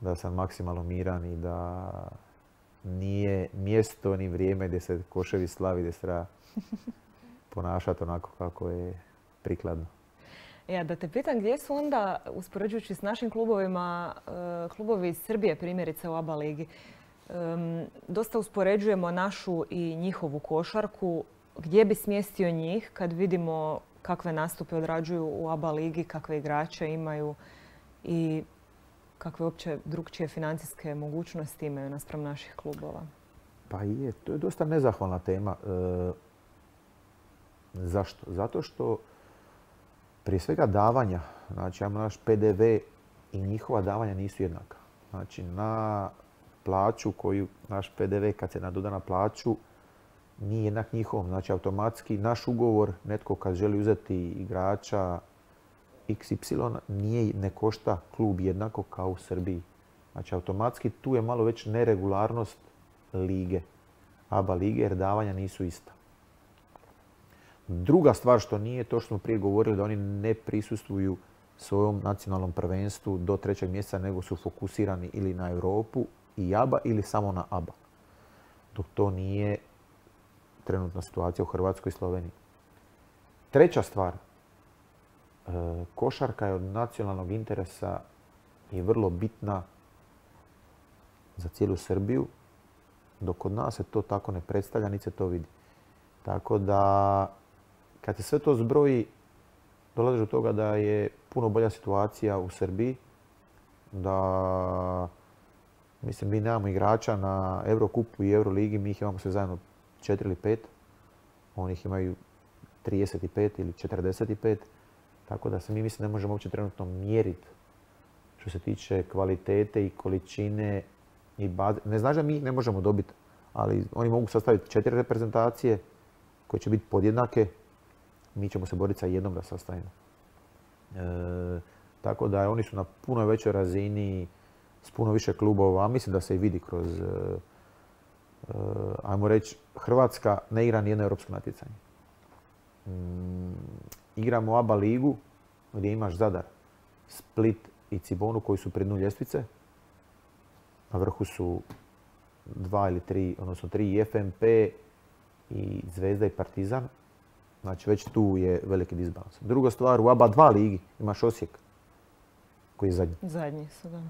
da sam maksimalno miran i da nije mjesto ni vrijeme gdje se koševi slavi, gdje se treba ponašati onako kako je prikladno. Ja, da te pitam gdje su onda, uspoređujući s našim klubovima, klubovi iz Srbije primjerice u A B A ligi. Dosta uspoređujemo našu i njihovu košarku. Gdje bi smjestio njih kad vidimo kakve nastupe odrađuju u A B A ligi, kakve igrače imaju i kakve uopće drukčije financijske mogućnosti imaju naspram naših klubova? Pa je, to je dosta nezahvalna tema. E, zašto? Zato što prije svega davanja, znači imamo naš P D V i njihova davanja nisu jednaka. Znači na plaću koju naš P D V kad se nadoda na plaću nije jednak njihovom. Znači automatski naš ugovor, netko kad želi uzeti igrača iks ipsilon nije, ne košta klub jednako kao u Srbiji. Znači automatski tu je malo već neregularnost lige, A B A lige, jer davanja nisu ista. Druga stvar što nije, to što smo prije govorili, da oni ne prisustvuju svojom nacionalnom prvenstvu do trećeg mjeseca, nego su fokusirani ili na Europu i A B A ili samo na A B A. Dok to nije trenutna situacija u Hrvatskoj i Sloveniji. Treća stvar, košarka je od nacionalnog interesa i vrlo bitna za cijelu Srbiju, dok kod nas se to tako ne predstavlja, niti se to vidi. Tako da, kad se sve to zbroji, dolazi do toga da je puno bolja situacija u Srbiji, da, mislim, mi nemamo igrača na Eurokupu i Euroligi, mi ih imamo sve zajedno četiri ili pet, oni ih imaju trideset pet ili četrdeset pet, tako da se mi, mislim, ne možemo uopće trenutno mjeriti što se tiče kvalitete i količine i baze. Ne znači da mi ih ne možemo dobiti, ali oni mogu sastaviti četiri reprezentacije koje će biti podjednake. Mi ćemo se boriti sa jednom da sastavimo. E, tako da oni su na puno većoj razini, s puno više klubova, a mislim da se i vidi kroz, e, e, ajmo reći, Hrvatska ne igra nijedno europsko natjecanje. Mm, igramo A B A ligu gdje imaš Zadar, Split i Cibonu koji su pri dnu ljestvice. Na vrhu su dva ili tri, odnosno tri F M P i Zvezda i Partizan. Znači već tu je veliki disbalans. Druga stvar, u A B A dva ligi imaš Osijek koji je zadnji. Zadnji su, da.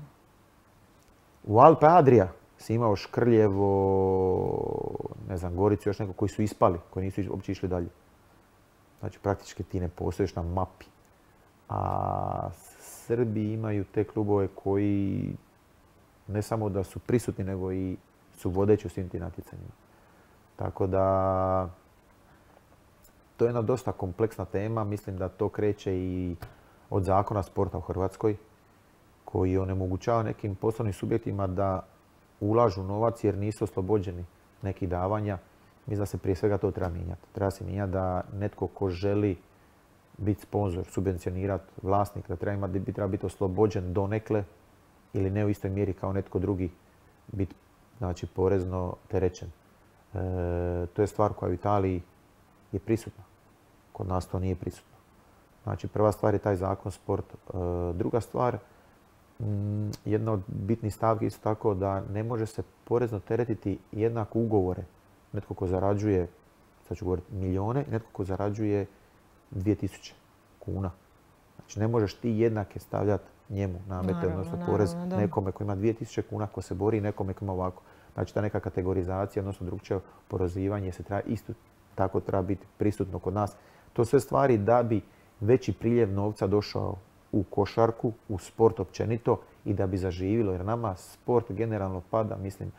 U Alpe Adria si imao Škrljevo, ne znam, Goricu, još neko koji su ispali, koji nisu uopće išli dalje. Znači praktički ti ne postojiš na mapi. A Srbi imaju te klubove koji ne samo da su prisutni, nego i su vodeći u svim tim natjecanjima. Tako da to je jedna dosta kompleksna tema. Mislim da to kreće i od zakona sporta u Hrvatskoj koji onemogućava nekim poslovnim subjektima da ulažu novac jer nisu oslobođeni nekih davanja. Mislim da se prije svega to treba mijenjati. Treba se mijenjati da netko ko želi biti sponzor, subvencionirati vlasnik, da treba, imati, treba biti oslobođen donekle ili ne u istoj mjeri kao netko drugi biti, znači, porezno terećen. E, to je stvar koja u Italiji je prisutna. Kod nas to nije prisutno. Znači, prva stvar je taj zakon sport. E, druga stvar, m, jedna od bitnih stavki isto tako da ne može se porezno teretiti jednako ugovore. Netko ko zarađuje, sad ću govoriti, milijone, netko ko zarađuje dvije tisuće kuna. Znači, ne možeš ti jednake stavljati njemu namete, odnosno porez nekome ko ima dvije tisuće kuna ko se bori i nekome ko ima ovako. Znači, ta neka kategorizacija, odnosno drukčije oporezivanje se treba isto tako treba biti prisutno kod nas. To sve stvari da bi veći priljev novca došao u košarku, u sport općenito i da bi zaživilo. Jer nama sport generalno pada, mislim,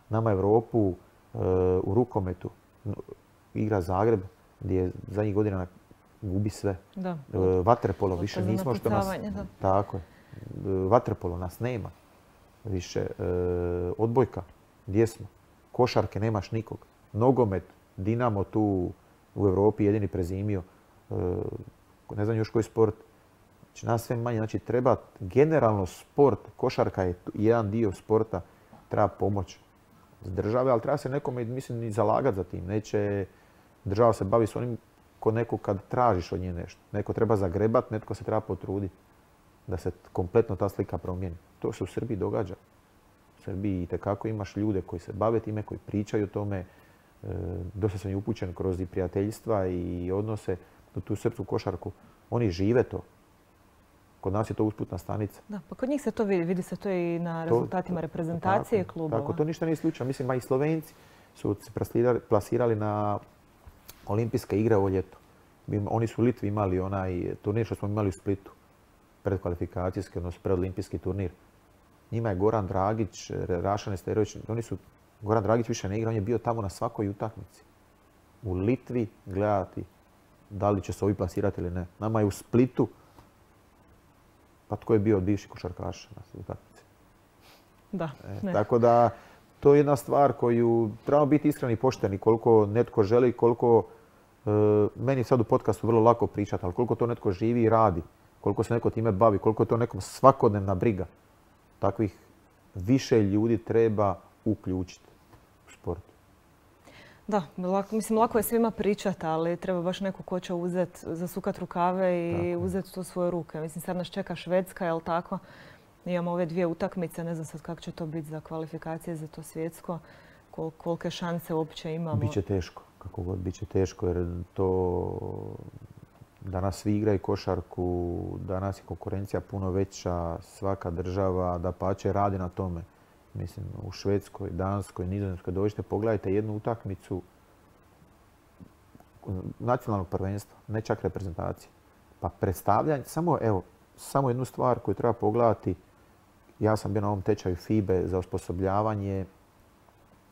nama Europu u rukometu igra Zagreb gdje je zadnjih godina gubi sve. Da. Vaterpolo više nismo što nas... Da. Tako je. Vaterpolo nas nema više. Odbojka, gdje smo? Košarke nemaš nikog. Nogomet, Dinamo tu u Europi jedini prezimio. Ne znam još koji sport. Znači nas sve manje. Znači treba generalno sport, košarka je jedan dio sporta, treba pomoć s države, ali treba se nekome, mislim, i zalagati za tim. Neće država se bavi s onim ko neko kad tražiš od nje nešto. Neko treba zagrebat, netko se treba potruditi da se kompletno ta slika promijeni. To se u Srbiji događa. U Srbiji itekako imaš ljude koji se bave time, koji pričaju o tome. dosta sam i upućen kroz i prijateljstva i odnose u tu srpsku košarku. Oni žive to. Kod nas je to usputna stanica. Da, pa kod njih se to vidi. Vidi se to i na rezultatima to, reprezentacije tako, klubova. Tako, to ništa nije slučajno. Mislim, ma i Slovenci su se plasirali na olimpijske igre ovo ljeto. Oni su u Litvi imali onaj turnir što smo imali u Splitu. Predkvalifikacijski, odnosno predolimpijski turnir. Njima je Goran Dragić, Rašan Esterović, oni su, Goran Dragić više ne igra, on je bio tamo na svakoj utakmici. U Litvi gledati da li će se ovi plasirati ili ne. Nama je u Splitu, pa tko je bio od bivših košarkaša na utakmici. Da, e, tako da, to je jedna stvar koju trebamo biti iskreni i pošteni koliko netko želi, koliko, e, meni sad u podcastu vrlo lako pričati, ali koliko to netko živi i radi, koliko se neko time bavi, koliko je to nekom svakodnevna briga. Takvih više ljudi treba uključiti u sport. Da, lako, mislim, lako je svima pričati, ali treba baš neko ko će uzeti, zasukati rukave i tako uzeti to u svoje ruke. Mislim, sad nas čeka Švedska, jel tako? Imamo ove dvije utakmice, ne znam sad kako će to biti za kvalifikacije za to svjetsko, kol, kolike šanse uopće imamo. Biće teško, kako god, biće teško jer to danas svi igraju košarku, danas je konkurencija puno veća, svaka država dapače radi na tome. Mislim, u Švedskoj, Danskoj, Nizozemskoj, dođite, pogledajte jednu utakmicu nacionalnog prvenstva, ne čak reprezentacije. Pa predstavljanje, samo, evo, samo jednu stvar koju treba pogledati. Ja sam bio na ovom tečaju F I B E za osposobljavanje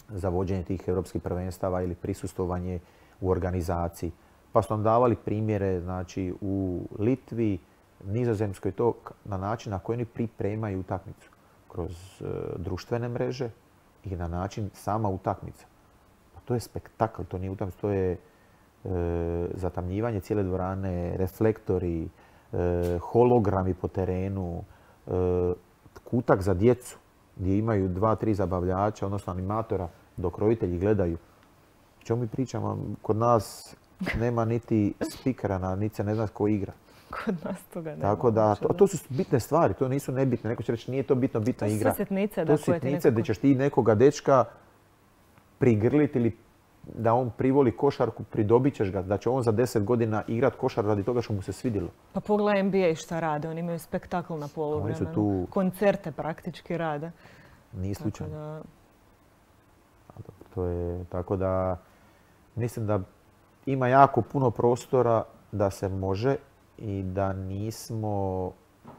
za vođenje tih europskih prvenstava ili prisustvovanje u organizaciji. Pa su nam davali primjere, znači, u Litvi, Nizozemskoj, to na način na koji oni pripremaju utakmicu. Kroz e, društvene mreže i na način sama utakmica. Pa to je spektakl, to nije utakmica, to je e, zatamnjivanje cijele dvorane, reflektori, e, hologrami po terenu, e, kutak za djecu gdje imaju dva, tri zabavljača, odnosno animatora, dok roditelji gledaju. O čemu mi pričamo? Kod nas nema niti spikera, niti se ne zna tko igra. Kod nas toga nema. Tako da, to, to su bitne stvari, to nisu nebitne. Neko će reći nije to bitno, bitna to igra. To su sitnice. To su sitnice gdje ćeš ti nekoga dečka prigrliti ili da on privoli košarku, pridobit ćeš ga, da će on za deset godina igrat košar radi toga što mu se svidjelo. Pa pogledaj N B A šta rade, oni imaju spektakl na poluvremenu. Oni su tu... Koncerte praktički rade. Nije slučajno. Da... To je, tako da mislim da ima jako puno prostora da se može i da nismo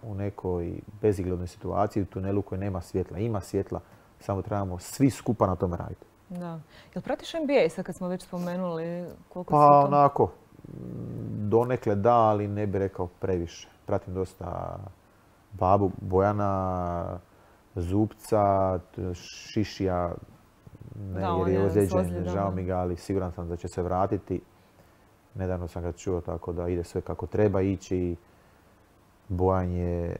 u nekoj bezizglednoj situaciji, u tunelu koji nema svjetla. Ima svjetla, samo trebamo svi skupa na tome raditi. Da. Jel pratiš N B A sad kad smo već spomenuli koliko pa, si to... onako, donekle da, ali ne bih rekao previše. Pratim dosta babu Bojana, Zupca, Šišija, ne, da, jer je ozlijeđen, da, žao mi ga, ali siguran sam da će se vratiti. Nedavno sam ga čuo tako da ide sve kako treba ići. Bojan je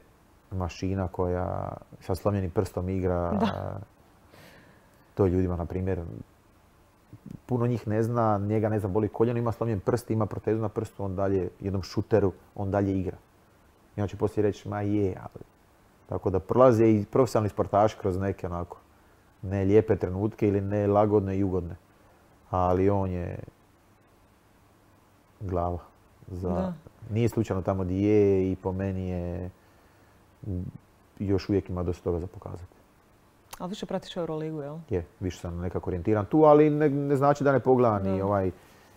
mašina koja sa slomljenim prstom igra. Da. To ljudima, na primjer, puno njih ne zna, njega ne zna, boli koljeno, ima slomljen prst, ima protezu na prstu, on dalje, jednom šuteru, on dalje igra. I on će poslije reći, ma je, ali... Tako da prolaze i profesionalni sportaši kroz neke onako ne lijepe trenutke ili ne lagodne i ugodne. Ali on je glava. Za... Nije slučajno tamo gdje je i po meni je još uvijek ima dosta toga za pokazati. Ali više pratiš Euroligu, jel? Je, više sam nekako orijentiran tu, ali ne, ne znači da ne pogledam i ovaj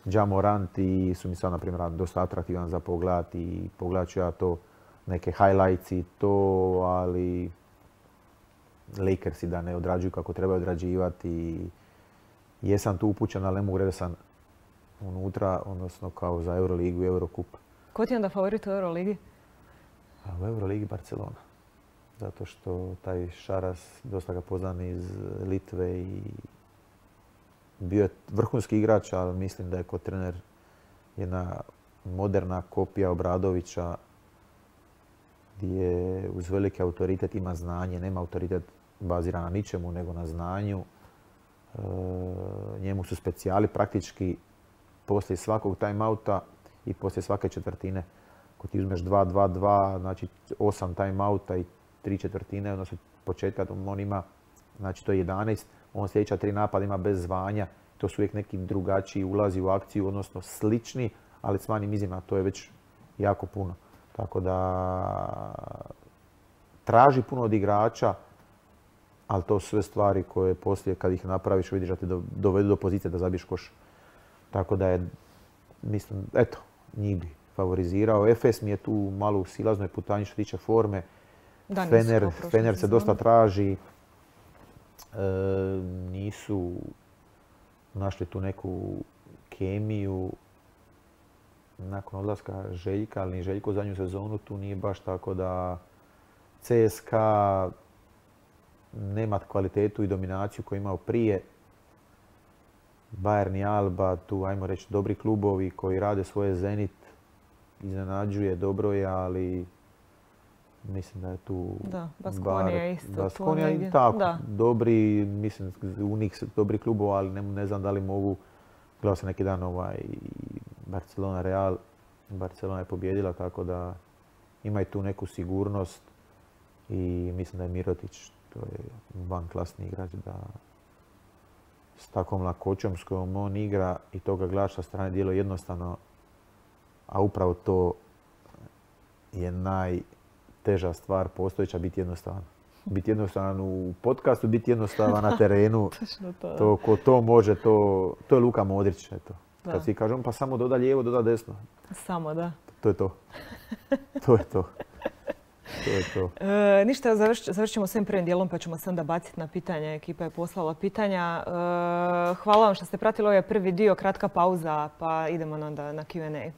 Ja Morant i su mi sad, na primjer, dosta atraktivan za pogledat i pogledat ću ja to, neke highlights i to, ali Lakersi da ne odrađuju kako treba odrađivati. Jesam tu upućen, ali ne mogu reći da sam unutra, odnosno kao za Euroligu i Eurocup. Ko ti je onda favorit u Euroligi? A u Euroligi Barcelona. Zato što taj Šaras, dosta ga poznam iz Litve i bio je vrhunski igrač, ali mislim da je kao trener jedna moderna kopija Obradovića gdje uz veliki autoritet ima znanje, nema autoritet baziran na ničemu nego na znanju. E, njemu su specijali praktički poslije svakog timeouta i poslije svake četvrtine. Ako ti uzmeš dva dva dva, znači osam timeouta i tri četvrtine, odnosno početka on ima, znači to je jedanaest, on sljedeća tri napada ima bez zvanja. to su uvijek neki drugačiji ulazi u akciju, odnosno slični, ali s manjim izmjenama, to je već jako puno. Tako da traži puno od igrača, ali to su sve stvari koje poslije kad ih napraviš vidiš da te dovedu do pozicije da zabiješ koš. Tako da je, mislim, eto, njih bi favorizirao. Efes mi je tu malo u silaznoj putanji što se tiče forme. Da, Fener, Fener se dosta traži. E, nisu našli tu neku kemiju nakon odlaska Željka, ali ni Željko u zadnju sezonu tu nije baš tako da C S K A nema kvalitetu i dominaciju koju je imao prije. Bayern i Alba, tu ajmo reći dobri klubovi koji rade svoje. Zenit iznenađuje, dobro je, ali mislim da je tu... Da, Baskonija isto. Baskonija i tako, da. Dobri, mislim, u njih dobri klubova, ali ne, ne znam da li mogu. Gledao sam neki dan ovaj Barcelona Real. Barcelona je pobjedila, tako da ima i tu neku sigurnost i mislim da je Mirotić, to je van klasni igrač, da s takvom lakoćom s kojom on igra i toga gledaš sa strane dijelo jednostavno, a upravo to je najteža stvar postojeća, biti jednostavan. Biti jednostavan u podcastu, biti jednostavan na terenu. to. To, ko to može, to, to je Luka Modrić. Eto. Kad svi kažemo pa samo doda lijevo, doda desno. Samo, da. To je to. To je to. To je to. E, ništa, završ, završit ćemo s ovim prvim dijelom pa ćemo se onda baciti na pitanja. Ekipa je poslala pitanja. E, hvala vam što ste pratili ovaj prvi dio, kratka pauza pa idemo onda na Q and A.